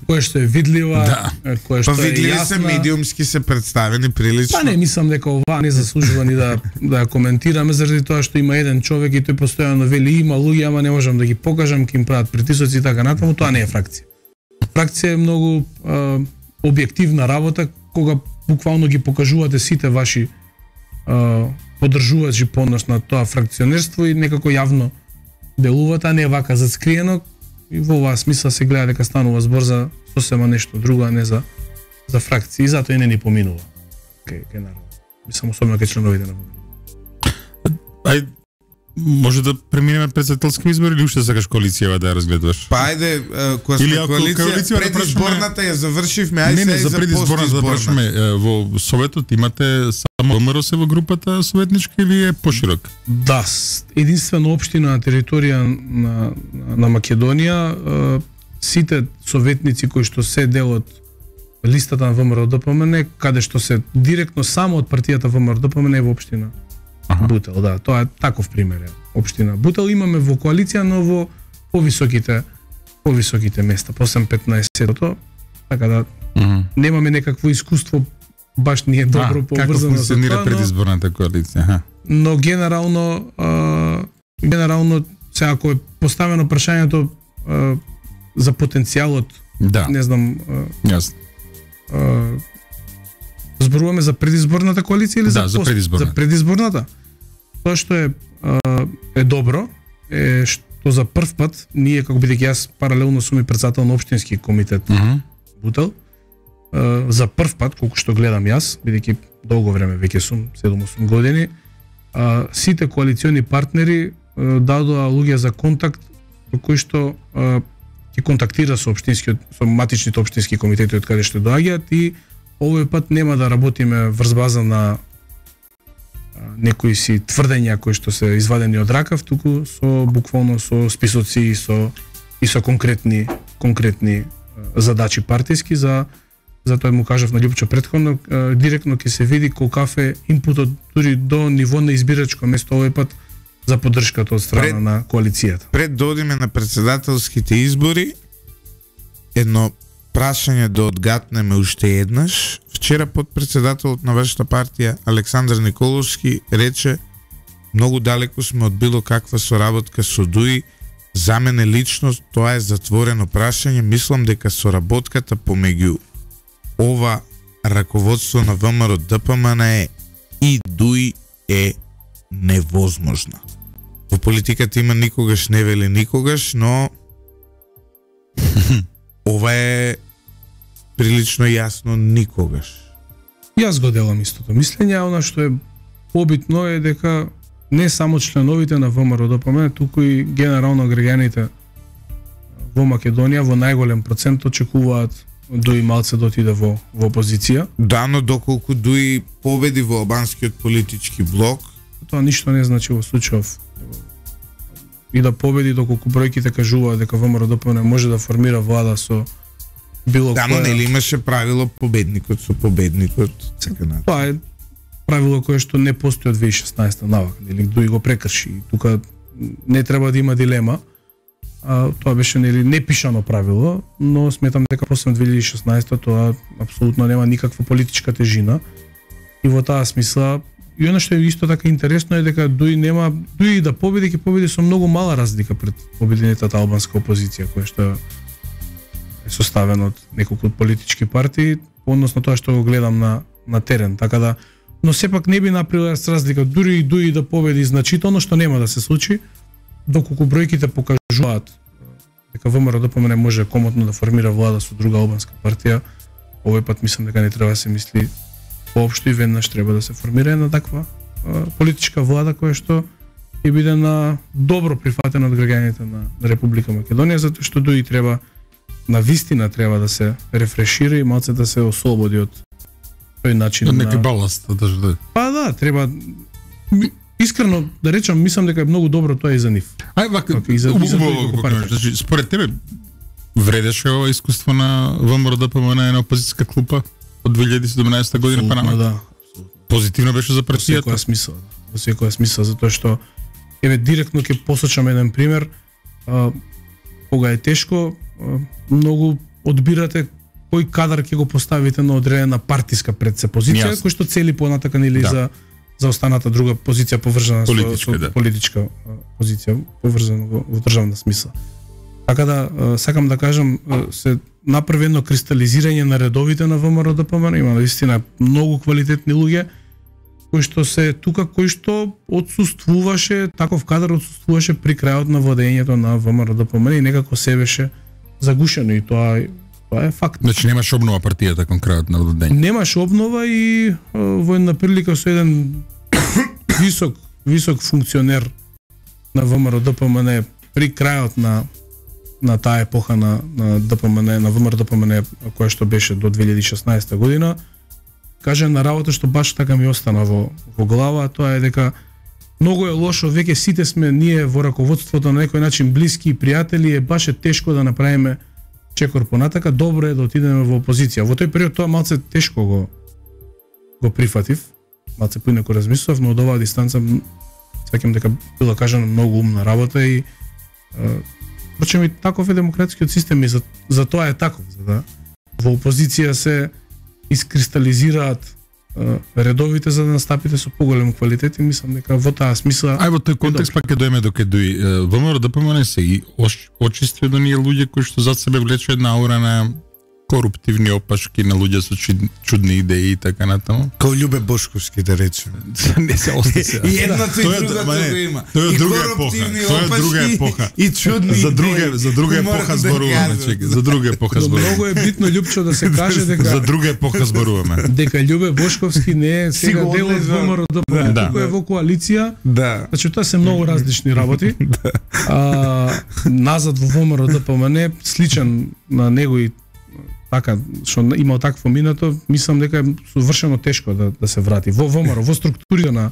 која што е видлива, да. која што па, е јасна. се медиумски се представени прилично. Па не, мислам дека ова не заслужува ни да да ја коментираме заради тоа што има еден човек и тој постојано вели има луѓе, ама не можам да ги покажам, ќе им прават притисоци и така натаму, тоа не е фракција. Фракција е многу а, објективна работа кога буквално ги покажувате сите ваши а, поддржувачи понос на тоа фракционерство и некако јавно делувате, а не вака зацкриено, и во оваа смисла се гледа дека станува збор за сосема нешто друго, а не за за фракција, и затоа и не ни поминува. Кај кај народ. Мислам особено кај членовите на ВМРО. Ај може да преминеме председателски избори или уште сакаш коалицијава да ја разгледуваш? Па ајде, кога сме коалиција, предизборната ја завршивме, ајде не, не, се за предизборната да прашаме. Во Советот имате само ВМРО се во групата советничка или е поширок? Да, единствено општина на територија на, на Македонија, сите советници кои што се дел од листата на ВМРО-ДПМН, каде што се директно само од партијата ВМРО-ДПМН е во општина Аха. Бутел, да, тоа е таков пример е. Општина Бутел имаме во коалиција, но во повисоките повисоките места, по осем-петнаесет, така да mm-hmm. немаме некакво искуство баш не е добро а, поврзано со тоа. Како функционира предизборната коалиција? Аха. Но генерално а, генерално се ако е поставено прашањето а, за потенцијалот, да. Не знам, јасно. Зборуваме за предизборната коалиција или да, за, за пост, предизборната? За предизборната. Тоа што е а, е добро е што за прв пат ние, како бидејќи јас паралелно сум и претседател на општински комитет uh -huh. Бутел, а, за прв пат колку што гледам јас, бидејќи долго време веќе сум седум-осум години, а, сите коалициони партнери а, дадоа луѓе за контакт кои што а, ќе контактира со општинскиот со матичните општински комитети од каде што доаѓаат, и овој пат нема да работиме врз база на некои си тврдења кои што се извадени од ракав, туку со буквално со списоци и со и со конкретни конкретни задачи партиски. За затоа му кажав на Љупчо претходно, директно ќе се види колкав е импутот дури до ниво на избирачко место овој пат за поддршката од страна пред, на коалицијата. Пред да одиме на председателските избори, едно прашање да одгатнеме уште еднаш. Вчера подпредседателот на вашата партија Александар Николовски рече: многу далеку сме од било каква соработка со ДУИ. За мене лично тоа е затворено прашање. Мислам дека соработката помеѓу ова раководство на ВМРО-ДПМН е и ДУИ е невозможна. Во политиката има никогаш не вели никогаш, но ова е прилично јасно никогаш. Јас го делам истото мислење, а она што е побитно е дека не само членовите на ВМРО-ДПМН, туку и генерално граѓаните во Македонија во најголем процент очекуваат ДУИ малце да отиде во, во опозиција. Да, но доколку ДУИ победи во албанскиот политички блок, тоа ништо не значи во случајов и да победи, доколку бројките кажуваат дека ВМРО-ДПМН може да формира влада со било да, која... но нели имаше правило победникот со победникот, така на. Тоа е правило кое што не постои од две илјади и шеснаесета навак, нели ДУИ го прекрши. Тука не треба да има дилема. А, тоа беше нели непишано правило, но сметам дека после две илјади и шеснаесета тоа апсолутно нема никаква политичка тежина. И во таа смисла, и она што е исто така интересно е дека ДУИ нема ДУИ да победи, ќе победи со многу мала разлика пред обединетата албанска опозиција, која што е составена од неколку политички партии, односно тоа што го гледам на на терен, така да, но сепак не би направила разлика дури и ДУИ да победи значително, што нема да се случи, доколку бројките покажуваат дека ВМРО-ДПМН може комотно да формира влада со друга албанска партија. Овој пат мислам дека не треба да се мисли поопшто и веднаш треба да се формира една таква а, политичка влада која што ќе биде на добро прифатена од граѓаните на, на Република Македонија, затоа што ДУИ треба на вистина треба да се рефрешира и малце да се ослободи од тој начин на на неки баласт, да. Па да, треба искрено да речам, мислам дека е многу добро тоа и за нив. Ај вака, и за, за значи според тебе вредеше ова искуство на ВМРО-ДПМН на опозицијска клупа од две илјади и седумнаесета година па наматаму? Да. Позитивно беше за партијата. Во секоја смисла. во секоја смисла, затоа што еве директно ќе посочам еден пример, а, кога е тешко, а, многу одбирате кој кадар ќе го поставите на одредена партиска пред се позиција, Јас. кој што цели понатака нели Да. за за останата друга позиција поврзана Политичка, со, со да. политичка а, позиција поврзана во, во државна смисла. Така да а, сакам да кажам, а, се направи едно кристализирање на редовите на ВМРО Д П М Н, има наистина многу квалитетни луѓе кои што се тука, кои што отсуствуваше, таков кадар отсуствуваше при крајот на водењето на ВМРО Д П М Н и некако се беше загушено и тоа тоа е факт. Значи немаш обнова партијата кон крајот на водење. Немаш обнова и а, во една прилика со еден висок висок функционер на ВМРО Д П М Н при крајот на на таа епоха на на Д П М Н, на ВМРО Д П М Н која што беше до две илјади и шеснаесета година, каже на работа што баш така ми остана во во глава, тоа е дека многу е лошо, веќе сите сме ние во раководството на некој начин блиски и пријатели, е баш е тешко да направиме чекор понатака, добро е да отидеме во опозиција. Во тој период тоа малце тешко го го прифатив, малце поинаку размислував, но од оваа дистанца сеќам дека била кажана многу умна работа и впрочем и таков е демократскиот систем и за, за тоа е таков, за да во опозиција се искристализираат е, редовите за да настапите со поголем квалитет и мислам дека во таа смисла Ај во тој контекст пак ќе дојме до кедуи. ВМРО Д П М Н се и очисти од оние луѓе кои што зад себе влече една аура на коруптивни опашки, на луѓе со чуд, чудни идеи и така натаму. Као Љубе Бошковски, да речеме. Не се ости се. И едното и Тоа е- другото ма не, го има. тоа е И друга епоха. коруптивни Тоа е друга опашки епоха. И чудни За друга идеи. за друга Кои морат епоха да зборуваме, кажат. чеки, за друга епоха но многу зборуваме. е битно Љупчо да се каже дека За друга епоха зборуваме. дека Љубе Бошковски не е сега Си го дел од одлежал. ВМРО Д П М Н, Да. туку е во коалиција. Да. Значи тоа се многу различни работи. А, назад во ВМРО Д П М Н сличен на него и така што имал такво минато, мислам дека е совршено тешко да да се врати во ВМРО, во структурите на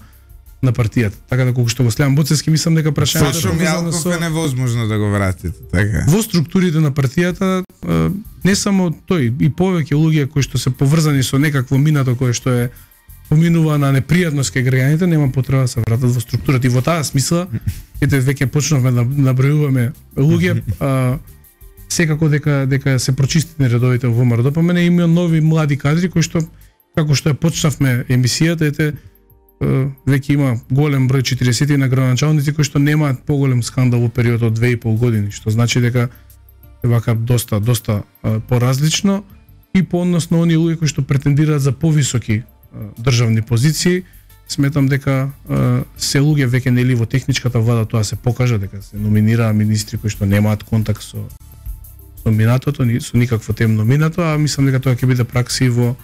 на партијата. Така да колку што го следам Буцевски, мислам дека прашањето Сашо е поврзано Мјалков со е невозможно да го вратите, така. во структурите на партијата, е, не само тој, и повеќе луѓе кои што се поврзани со некакво минато кое што е поминува на непријатност кај граѓаните, нема потреба да се вратат во структурата. И во таа смисла, ете веќе почнавме да набројуваме луѓе, а, секако дека дека се прочистени редовите во ВМРО Д П М Н, има нови млади кадри кои што како што ја почнавме емисијата, ете е, веќе има голем број четириесет на градоначалници кои што немаат поголем скандал во период од две и пол години, што значи дека е вака доста доста а, поразлично и по однос на оние луѓе кои што претендираат за повисоки а, државни позиции. Сметам дека а, се луѓе веќе нели во техничката влада тоа се покажа дека се номинираа министри кои што немаат контакт со со минатото, ни со никакво темно минато, а мислам дека тоа ќе биде пракса и во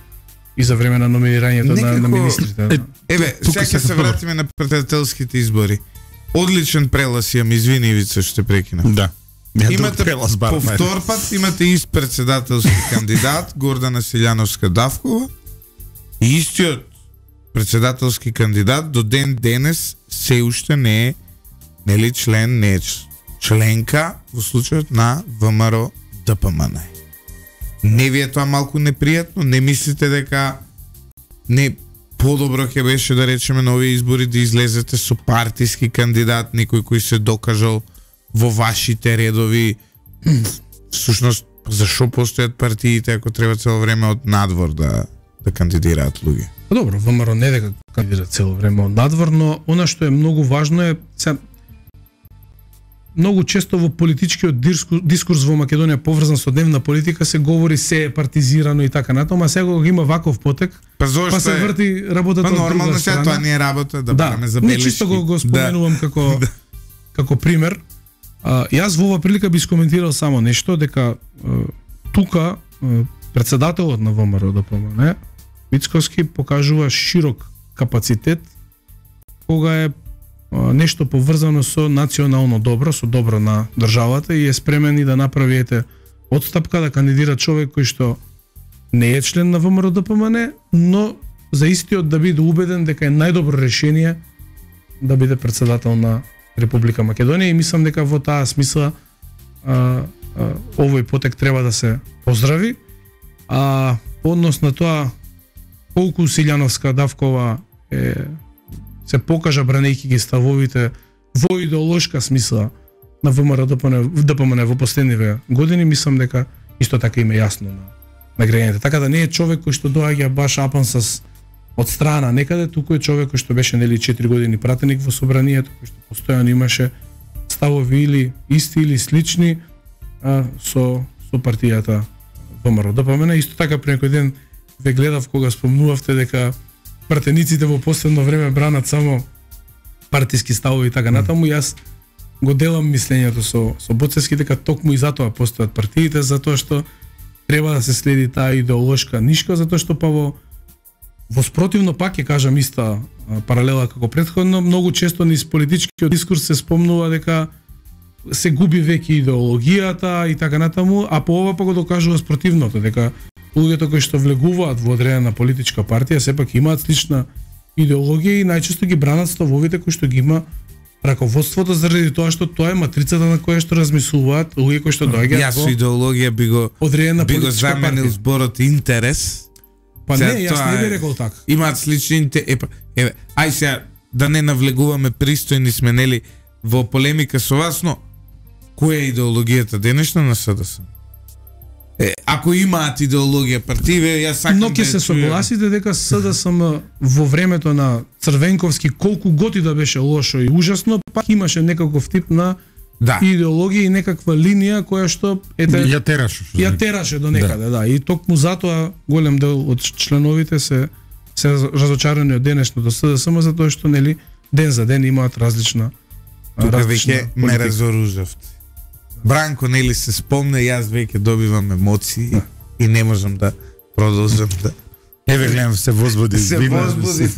и за време на номинирањето на, на Некако- министрите. Е, Еве, Тука сега ќе се се прво. вратиме на председателските избори. Одличен прелас имам, извини Ивица што те прекинав. Да. Ја Имате друг прелаз бар. по втор пат имате ист председателски кандидат Гордана Силјановска Давкова и истиот председателски кандидат до ден денес се уште не е нели член, не е членка во случајот на ВМРО Д П М Н. Не ви е тоа малку непријатно? Не мислите дека не подобро ќе беше да речеме на овие избори да излезете со партиски кандидат, некој кој се докажал во вашите редови? Всушност, зашо постојат партиите ако треба цело време од надвор да да кандидираат луѓе? Па добро, ВМРО не дека кандидира цело време од надвор, но она што е многу важно е се многу често во политичкиот дискурс, дискурс во Македонија поврзан со дневна политика се говори се е партизирано и така натаму, а сега кога има ваков потек, Па зошто па се е? врти работата Па од нормално друга сега страна. тоа не е работа да, Да, бараме не забелешки. чисто го, го споменувам Да. како како пример. А, јас во оваа прилика би скоментирал само нешто дека а, тука а, председателот на ВМРО Д П М Н Мицковски покажува широк капацитет кога е а, нешто поврзано со национално добро, со добро на државата и е спремен и да направи ете одстапка да кандидира човек кој што не е член на ВМРО Д П М Н, но за истиот да биде убеден дека е најдобро решение да биде председател на Република Македонија и мислам дека во таа смисла а, а, овој потек треба да се поздрави. А по однос на тоа колку Силјановска Давкова е се покажа бранејќи ги ставовите во идеолошка смисла на ВМРО ДПМН во последниве години, мислам дека исто така им е јасно на, на граѓаните. Така да не е човек кој што доаѓа баш апан с од страна некаде, туку е човек кој што беше нели четири години пратеник во собранието, кој што постојано имаше ставови или исти или слични а, со со партијата ВМРО ДПМН. Исто така при некој ден ве гледав кога спомнувавте дека пратениците во последно време бранат само партиски ставови и така натаму. Јас го делам мислењето со со Боцевски дека токму и затоа постојат партиите, затоа што треба да се следи таа идеолошка нишка, затоа што па во во спротивно пак ќе кажам иста а, паралела како претходно, многу често низ политичкиот дискурс се спомнува дека се губи веќе идеологијата и така натаму, а по ова па го докажува спротивното, дека луѓето кои што влегуваат во одредена политичка партија сепак имаат слична идеологија и најчесто ги бранат ставовите кои што ги има раководството, заради тоа што тоа е матрицата на која што размислуваат луѓе кои што доаѓаат. Јас со идеологија би го одредена би го заменил зборот интерес. Па не, јас не би рекол така. Имаат слични интерес. Епа, еве, ај сега да не навлегуваме пристојни сме нели во полемика со вас, но која е идеологијата денешна на СДС? Е, ако имаат идеологија партиве, јас сакам но ќе да се чујам. согласите дека СДСМ во времето на Црвенковски колку готи да беше лошо и ужасно, пак имаше некаков тип на Да. идеологија и некаква линија која што ете Ја тераше. ја тераше до некаде, да. да. И токму затоа голем дел од членовите се се разочарани од денешното СДСМ затоа што нели ден за ден имаат различна Тука различна веќе ме политика. разоружавте. Бранко нели се спомне, јас веќе добивам емоции Да. и не можам да продолжам да Еве гледам се возбуди. се вина, возбуди.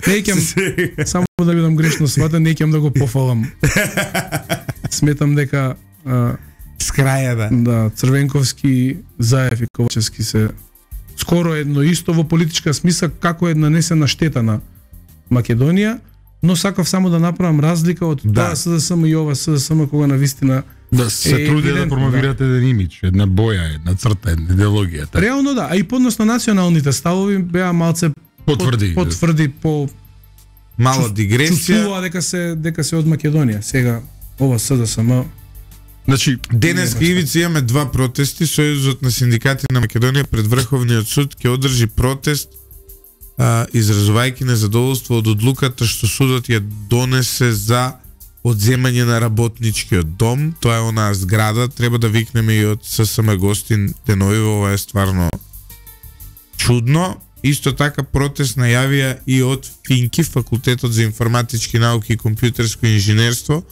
Не ќам само да бидам грешно сватен, не ќам да го пофалам. Сметам дека а, С краја да. да Црвенковски, Заев и Ковачевски се скоро едно исто во политичка смисла како е нанесена штета на Македонија, но сакав само да направам разлика од Да. тоа СДСМ и ова СДСМ кога навистина Да се Е, труди да евидентно, промовирате еден имидж, една боја, една црта, една идеологија. Така. реално да, а и подносно националните ставови беа малце Потврди. Под, потврди по Мало дигресија. чувствува дека се дека се од Македонија. Сега ова СДСМ Значи, Денес Ивица имаме два протести. Сојузот на синдикати на Македонија пред Врховниот суд ќе одржи протест а, изразувајќи незадоволство од одлуката што судот ја донесе за одземање на работничкиот дом. Тоа е онаа зграда, треба да викнеме и од ССМ гостин денови, ова е стварно чудно. Исто така протест најавија и од Финки, Факултетот за информатички науки и компјутерско инженерство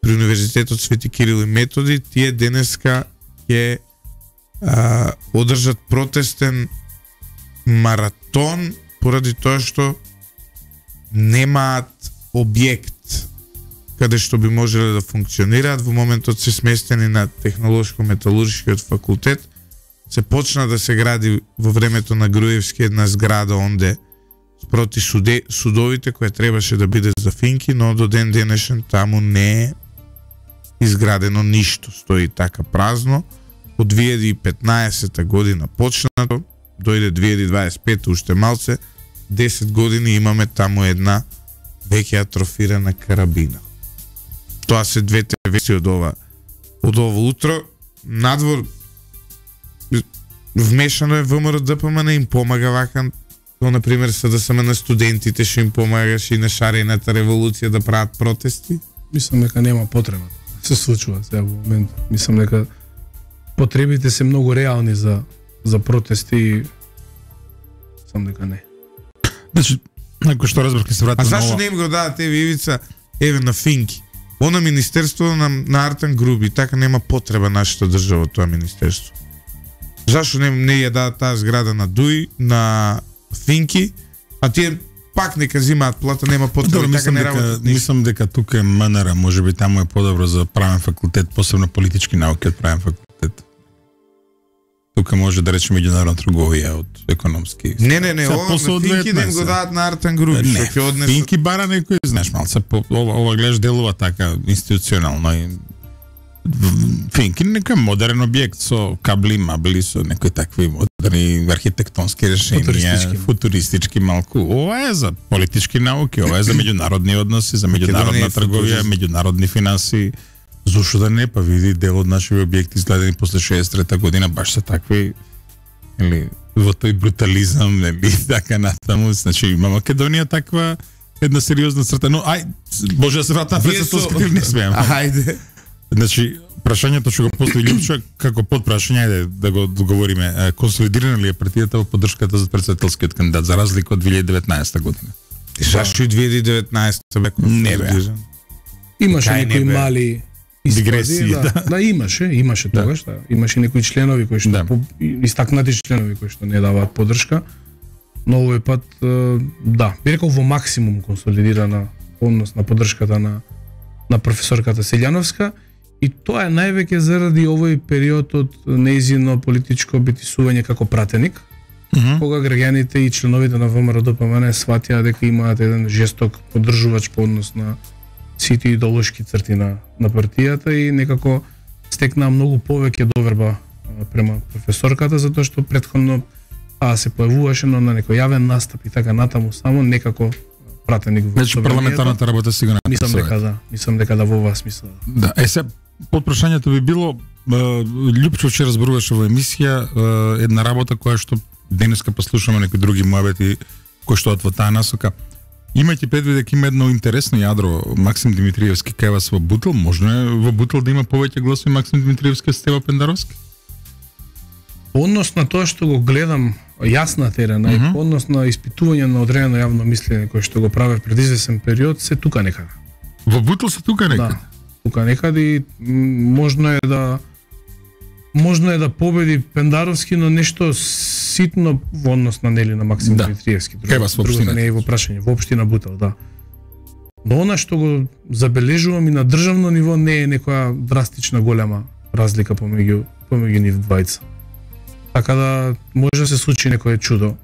при Универзитетот Свети Кирил и Методи. Тие денеска ќе а, одржат протестен маратон поради тоа што немаат објект каде што би можеле да функционираат. Во моментот се сместени на Технолошко-металуршкиот факултет. Се почна да се гради во времето на Груевски една зграда онде спроти суде, судовите која требаше да биде за Финки, но до ден денешен таму не е изградено ништо, стои така празно. Од две илјади и петнаесета година почнато, дојде две илјади и дваесет и пета уште малце, десет години имаме таму една веќе атрофирана карабина. Тоа се двете вести од ова од ова утро. Надвор вмешано е ВМРО ДПМН, им помага вака, но на пример СДСМ на студентите што им помагаше и на шарената револуција да прават протести. мислам дека нема потреба. Се случува сега во момент. Мислам дека потребите се многу реални за за протести. Сам дека не. значи, ако што разбрав, ќе се А вратам на зашто ова. не им го дадат еве Ивица, еве на Финки? Она министерство на, на Артан Груби, така нема потреба нашата држава тоа министерство. Зашто не, не ја дадат таа зграда на Дуј, на Финки, а тие пак нека зимаат плата, нема потреба, Добро, така мислам не дека, работат ништо. мислам дека тука е МНР, можеби таму е подобро за правен факултет, посебно политички науки од правен факултет. Тука може да речеме меѓународна трговија од економски. Не, не, не, Сега, ова после на од Финки да им деветнаесет. го дадат на Артан Груби, што Не, ќе однесат. Финки бара некој, знаеш, малце по ова, ова гледаш делува така институционално и в- Финки некој модерен објект со кабли, мабли, со некои такви модерни дали архитектонски решенија, Футуристички. футуристички малку. Ова е за политички науки, ова е за меѓународни односи, за меѓународна трговија, меѓународни финанси. Зошто да не, па види дел од нашиви објекти изгледани после шеесет и трета година баш се такви, или во тој брутализам, нели, така натаму, значи има Македонија таква една сериозна црта, но ај, може да се вратам пред тоа скрив не смеам. Ајде. Значи, прашањето што го постави Лјупчо, како подпрашање, ајде да го договориме, консолидирана ли е партијата во поддршката за претседателскиот кандидат, за разлика од две илјади и деветнаесета година? Зашто и две илјади и деветнаесета бе консолидиран? Имаше Кај не некои бе? мали Дигресии, да, да. да, имаше, имаше Да. тогаш, да. Имаше некои членови кои што Да. по, истакнати членови кои што не даваат поддршка. Но овој пат е, да, би рекол во максимум консолидирана однос на поддршката на на професорката Селјановска, и тоа е највеќе заради овој период од нејзино политичко битисување како пратеник, Мгм. кога граѓаните и членовите на ВМРО-ДПМН сватија дека имаат еден жесток поддржувач по однос на сите идеолошки црти на, на партијата и некако стекнаа многу повеќе доверба а, према професорката, затоа што претходно а се појавуваше но на некој јавен настап и така натаму само некако пратеник во Значи собранието. парламентарната работа си го Мислам написува. дека да, мислам дека да во оваа смисла. Да, е се подпрашањето би било, е, Лјупчо вчера зборуваше во емисија е, една работа која што денеска послушаме некои други муабети кои што од во таа насока. Имајќи предвид дека има едно интересно јадро Максим Димитриевски кај вас во Бутел, можно е во Бутел да има повеќе гласови Максим Димитриевски од Стево Пендаровски? По однос на тоа што го гледам јас на терена Мгм. и по однос на испитување на одредено јавно мислење кое што го правев пред извесен период, се тука некаде. Во Бутел се тука некаде. Да, тука некаде и м, можно е да можно е да победи Пендаровски, но нешто ситно во однос на нели на Максим Да. Димитриевски. Кај вас во другото општината? не е во прашање, во општина Бутел, да. Но она што го забележувам и на државно ниво не е некоја драстична голема разлика помеѓу помеѓу нив двајца. Така да може да се случи некое чудо.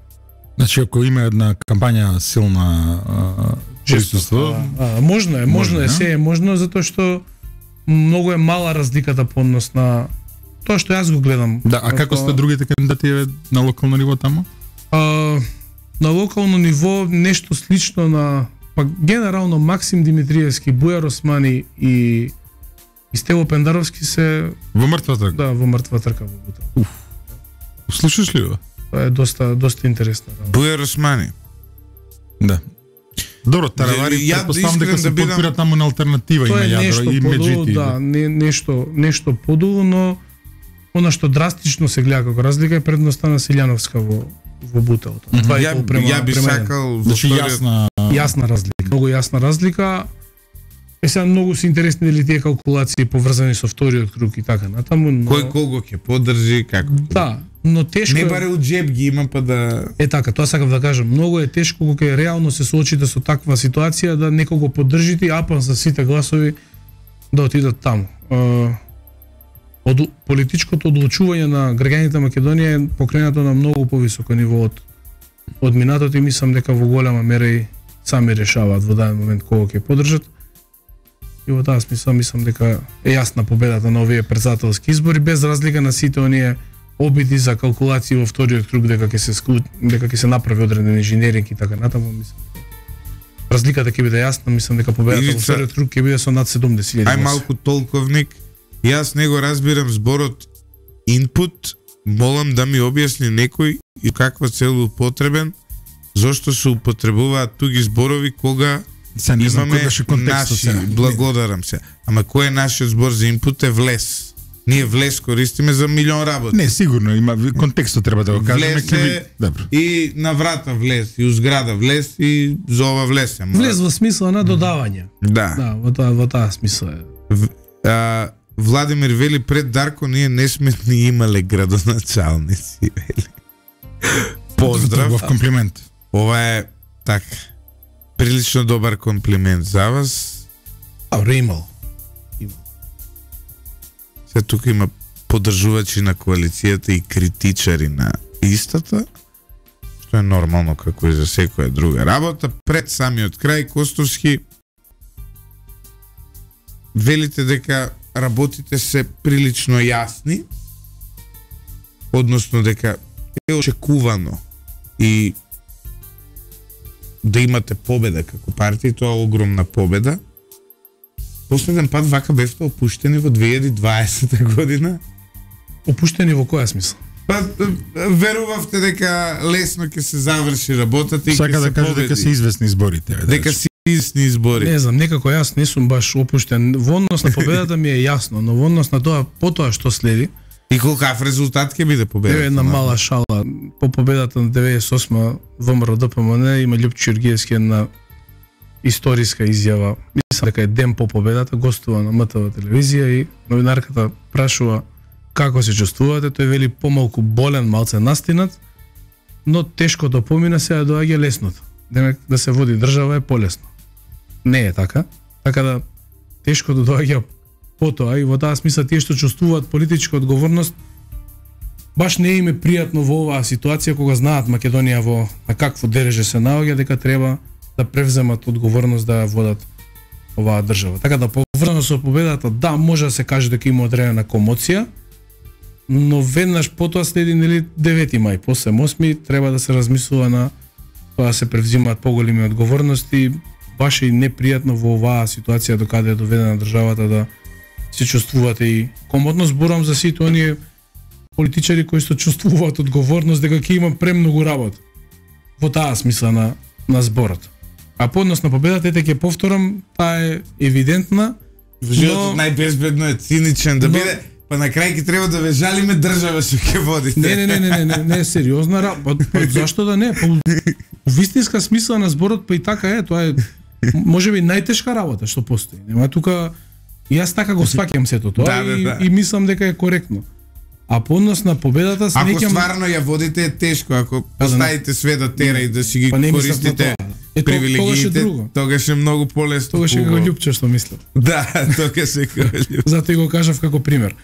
Значи ако има една кампања силна а, присуство, А, а, можно е, можно Може, е, да? се е можно затоа што многу е мала разликата по однос на тоа што јас го гледам. да, а како сте другите кандидати еве, на локално ниво таму? А, на локално ниво нешто слично на па генерално Максим Димитриевски, Бујар Османи и и Стево Пендаровски се Во мртва трка. да во мртва трка во Бутел. Слушаш ли го? Тоа е доста доста интересно. Да. Бујар Османи. Да. Добро, Таравари, Ја предпоставам да дека се искрен да бидам- подпира таму на алтернатива, има Тоа е јадро нешто и подолу, меѓути. да, не, нешто нешто подолу, но она што драстично се гледа како разлика е предноста на Селјановска во во Бутел. Мгм. Два и Ја, пол према, ја би према еден. сакал во Значи вториот- јасна Јасна разлика, многу јасна разлика. Е сега многу се интересни дали тие калкулации поврзани со вториот круг и така натаму, но кој кого ќе поддржи, како. да, но тешко Не е- баре у джеб ги има па да Е така, тоа сакав да кажам, многу е тешко кога ќе реално се соочите со таква ситуација да некого поддржите, апан за сите гласови да отидат таму. Е, Од политичкото одлучување на граѓаните на Македонија е покренато на многу повисоко ниво од од минатото и мислам дека во голема мера и сами решаваат во даден момент кого ќе поддржат. И во таа смисла мислам дека е јасна победата на овие претседателски избори без разлика на сите оние обиди за калкулации во вториот круг дека ќе се склу... дека ќе се направи одреден инженеринг и така натаму, мислам. Разликата ќе биде јасна, мислам дека победата во Ивица, вториот круг ќе биде со над седумдесет илјади. ај малку толковник. Јас не го разбирам зборот input, молам да ми објасни некој и каква цел употребен, зошто се употребуваат туги зборови кога се не знам имаме кој беше контекстот наши, сега. благодарам се. Ама кој е нашиот збор за input е влез. Ние влез користиме за милион работи. Не, сигурно има контекстот треба да го кажеме. Влез ќе е би- Добро. и на врата влез, и у зграда влез, и за ова влез. Ама- Влез во смисла на додавање. Да. Да, во таа во таа смисла е. В, а, Владимир вели пред Дарко ние не сме ни имале градоначалници, вели. Поздрав. Во комплимент. Ова е така прилично добар комплимент за вас. А, имал. Се тука има поддржувачи на коалицијата и критичари на истата, што е нормално како и за секоја друга работа. Пред самиот крај Костовски велите дека работите се прилично јасни, односно дека е очекувано и да имате победа како партија, тоа е огромна победа. Последен пат вака бевте опуштени во две илјади и дваесета година. Опуштени во која смисла? Па верувавте дека лесно ќе се заврши работата и Сака ќе да се каже победи. дека се известни изборите. бе, Дека да. се известни избори. Не знам, некако јас не сум баш опуштен. Во однос на победата ми е јасно, но во однос на тоа потоа што следи, И колкав резултат ќе биде победата? еве една мала шала. По победата на деветдесет и осма ВМРО Д П М Н има Љупчо Ѓурѓиевски една историска изјава. Мислам дека е ден по победата, гостува на М Т В телевизија и новинарката прашува како се чувствувате, тој вели помалку болен, малце настинат, но тешкото помина, сега доаѓа лесното. Демек да се води држава е полесно. Не е така. Така да тешкото доаѓа потоа и во таа смисла тие што чувствуваат политичка одговорност баш не им е пријатно во оваа ситуација кога знаат Македонија во на какво дереже се наоѓа, дека треба да превземат одговорност да водат оваа држава. Така да поврзано со победата, да, може да се каже дека има одредена комоција, но веднаш потоа следи нели девети мај, по седум осми треба да се размислува на тоа да се превзимаат поголеми одговорности, баш и непријатно во оваа ситуација до каде е доведена државата да се чувствувате и комотно. Зборам за сите оние политичари кои што чувствуваат одговорност дека ќе има премногу работа. Во таа смисла на на зборот. А по однос на победата, ете ќе повторам, таа е евидентна. Животот но- најбезбедно е циничен да но- биде, па на крај ќе треба да ве жалиме држава што ќе водите. Не, не, не, не, не, не, не е сериозна работа. Па, зашто да не? Па, во вистинска смисла на зборот, па и така е, тоа е можеби најтешка работа што постои. Нема тука и јас така го сваќам сето тоа Да, да, и, да. и мислам дека е коректно. А по однос на победата се Ако неќам стварно ја водите е тешко, ако поставите све да тера и да си ги Па не мислам на користите тоа. Е, то- тогаш е привилегиите, друго. тогаш е многу полесно. Тогаш е како хубаво. Љупчо што мислам. Да, тогаш е како Љупчо. Затоа и го кажав како пример.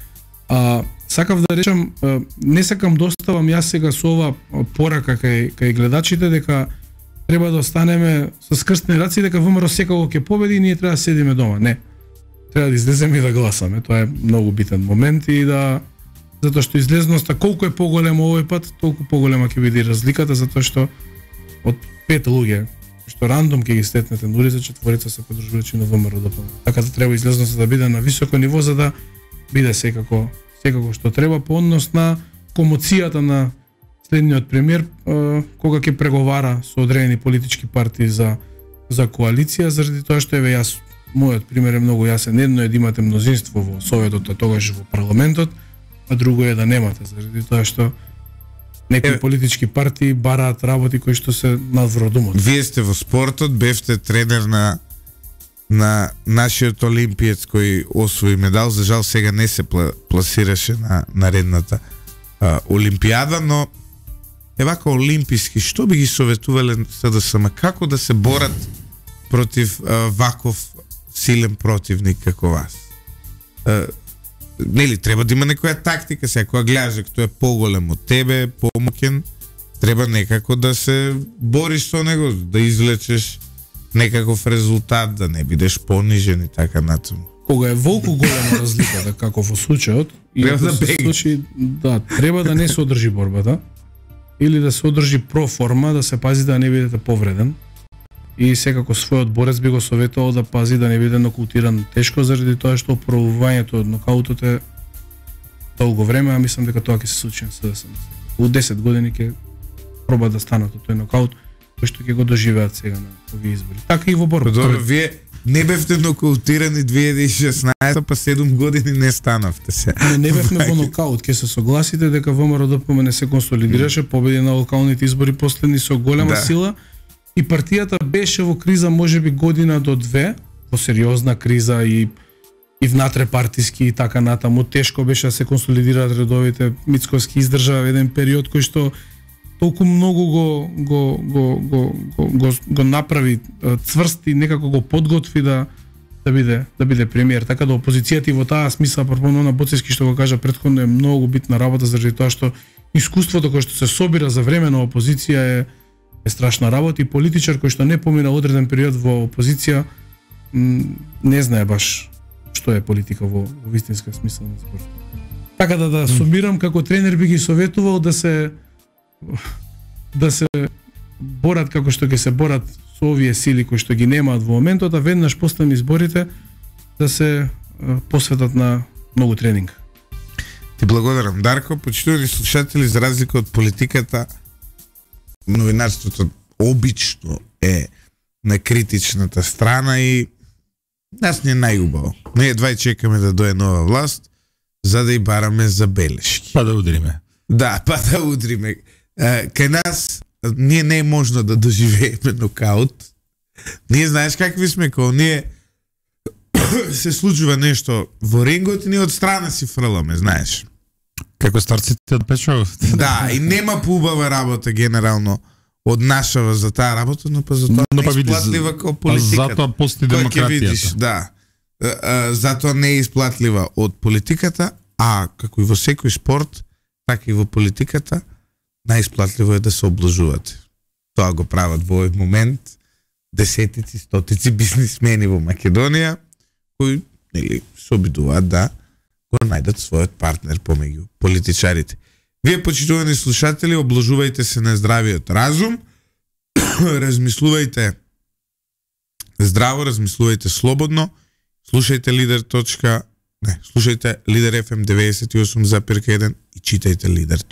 А, сакав да речам, а, не сакам да оставам јас сега со ова порака кај, кај гледачите дека треба да останеме со скрстени раци, дека ВМРО секако ќе победи и ние треба да седиме дома. Не. Треба да излеземе и да гласаме. Тоа е многу битен момент и да затоа што излезноста колку е поголема овој пат, толку поголема ќе биде и разликата, затоа што од пет луѓе што рандом ќе ги стетнете на улица, четворица се подржувачи на ВМРО Д П М Н. Така да треба излезноста да биде на високо ниво за да биде секако секако што треба по однос на комоцијата на следниот премиер е, кога ќе преговара со одредени политички партии за за коалиција, заради тоа што еве јас мојот пример е многу јасен. Едно е да имате мнозинство во советот, а тогаш во парламентот, а друго е да немате, заради тоа што некои Еве. политички партии бараат работи кои што се надвор од умот. Вие сте во спортот, бевте тренер на на нашиот олимпиец кој освои медал, за жал сега не се пла, пласираше на наредната а, олимпијада, но е вака олимписки, што би ги советувале С Д С М, како да се борат против а, ваков силен противник како вас? А, нели треба да има некоја тактика, сега кога гледаш дека тој е поголем од тебе, помоќен, треба некако да се бориш со него, да извлечеш некаков резултат, да не бидеш понижен и така натаму. Кога е волку голема разликата, како во случајот, и Треба ако да се беги. случи, да, треба да не се одржи борбата, или да се одржи проформа, да се пази да не бидете повреден. И секако својот борец би го советувал да пази да не биде нокаутиран тешко, заради тоа што опробувањето од нокаутот е долго време, а мислам дека тоа ќе се случи на С Д С М. У десет години ќе проба да станат од тој нокаут, кој што ќе го доживеат сега на овие избори. Така и во борба. Добро, вие не бевте нокаутирани две илјади и шеснаесета, па седум години не станавте се. Не, не бевме во нокаут, ќе се согласите дека ВМРО Д П М Н се консолидираше, победи на локалните избори последни со голема Да. сила и партијата беше во криза можеби година до две, во сериозна криза и и внатре партиски и така натаму. Тешко беше да се консолидираат редовите. Мицковски издржа еден период кој што толку многу го го го го го, го, го направи е, цврст и некако го подготви да да биде да биде премиер. Така да опозицијата и во таа смисла пропорно на Боцевски што го кажа претходно е многу битна работа заради тоа што искуството кое што се собира за време на опозиција е е страшна работа и политичар кој што не помина одреден период во опозиција м, не знае баш што е политика во, во вистинска смисла на збор. Така да да сумирам, како тренер би ги советувал да се да се борат како што ќе се борат со овие сили кои што ги немаат во моментот, а веднаш после изборите да се посветат на многу тренинг. Ти благодарам, Дарко. Почитувани слушатели, за разлика од политиката, новинарството обично е на критичната страна и нас не е најубаво. Ние едва и чекаме да дое нова власт, за да и бараме забелешки. Па да удриме. Да, па да удриме. Кај нас ние не е можно да доживееме нокаут. Ние знаеш какви сме, кога ние се случува нешто во рингот и ние од страна си фрламе, знаеш. Како старците од Печовот. Да, и нема поубава работа генерално од нашава за таа работа, но па за тоа но, не па е исплатлива како политиката. Затоа постои демократијата. Видиш, да. А, а, затоа не е исплатлива од политиката, а како и во секој спорт, така и во политиката, најисплатливо е да се облажувате. Тоа го прават во овој момент десетици, стотици бизнисмени во Македонија, кои нели се обидуваат да го најдат својот партнер помеѓу политичарите. Вие, почитувани слушатели, облажувајте се на здравиот разум, размислувајте здраво, размислувајте слободно, слушајте Лидер. Не, слушајте Лидер еф ем деветдесет и осум запирка еден и читајте Лидер.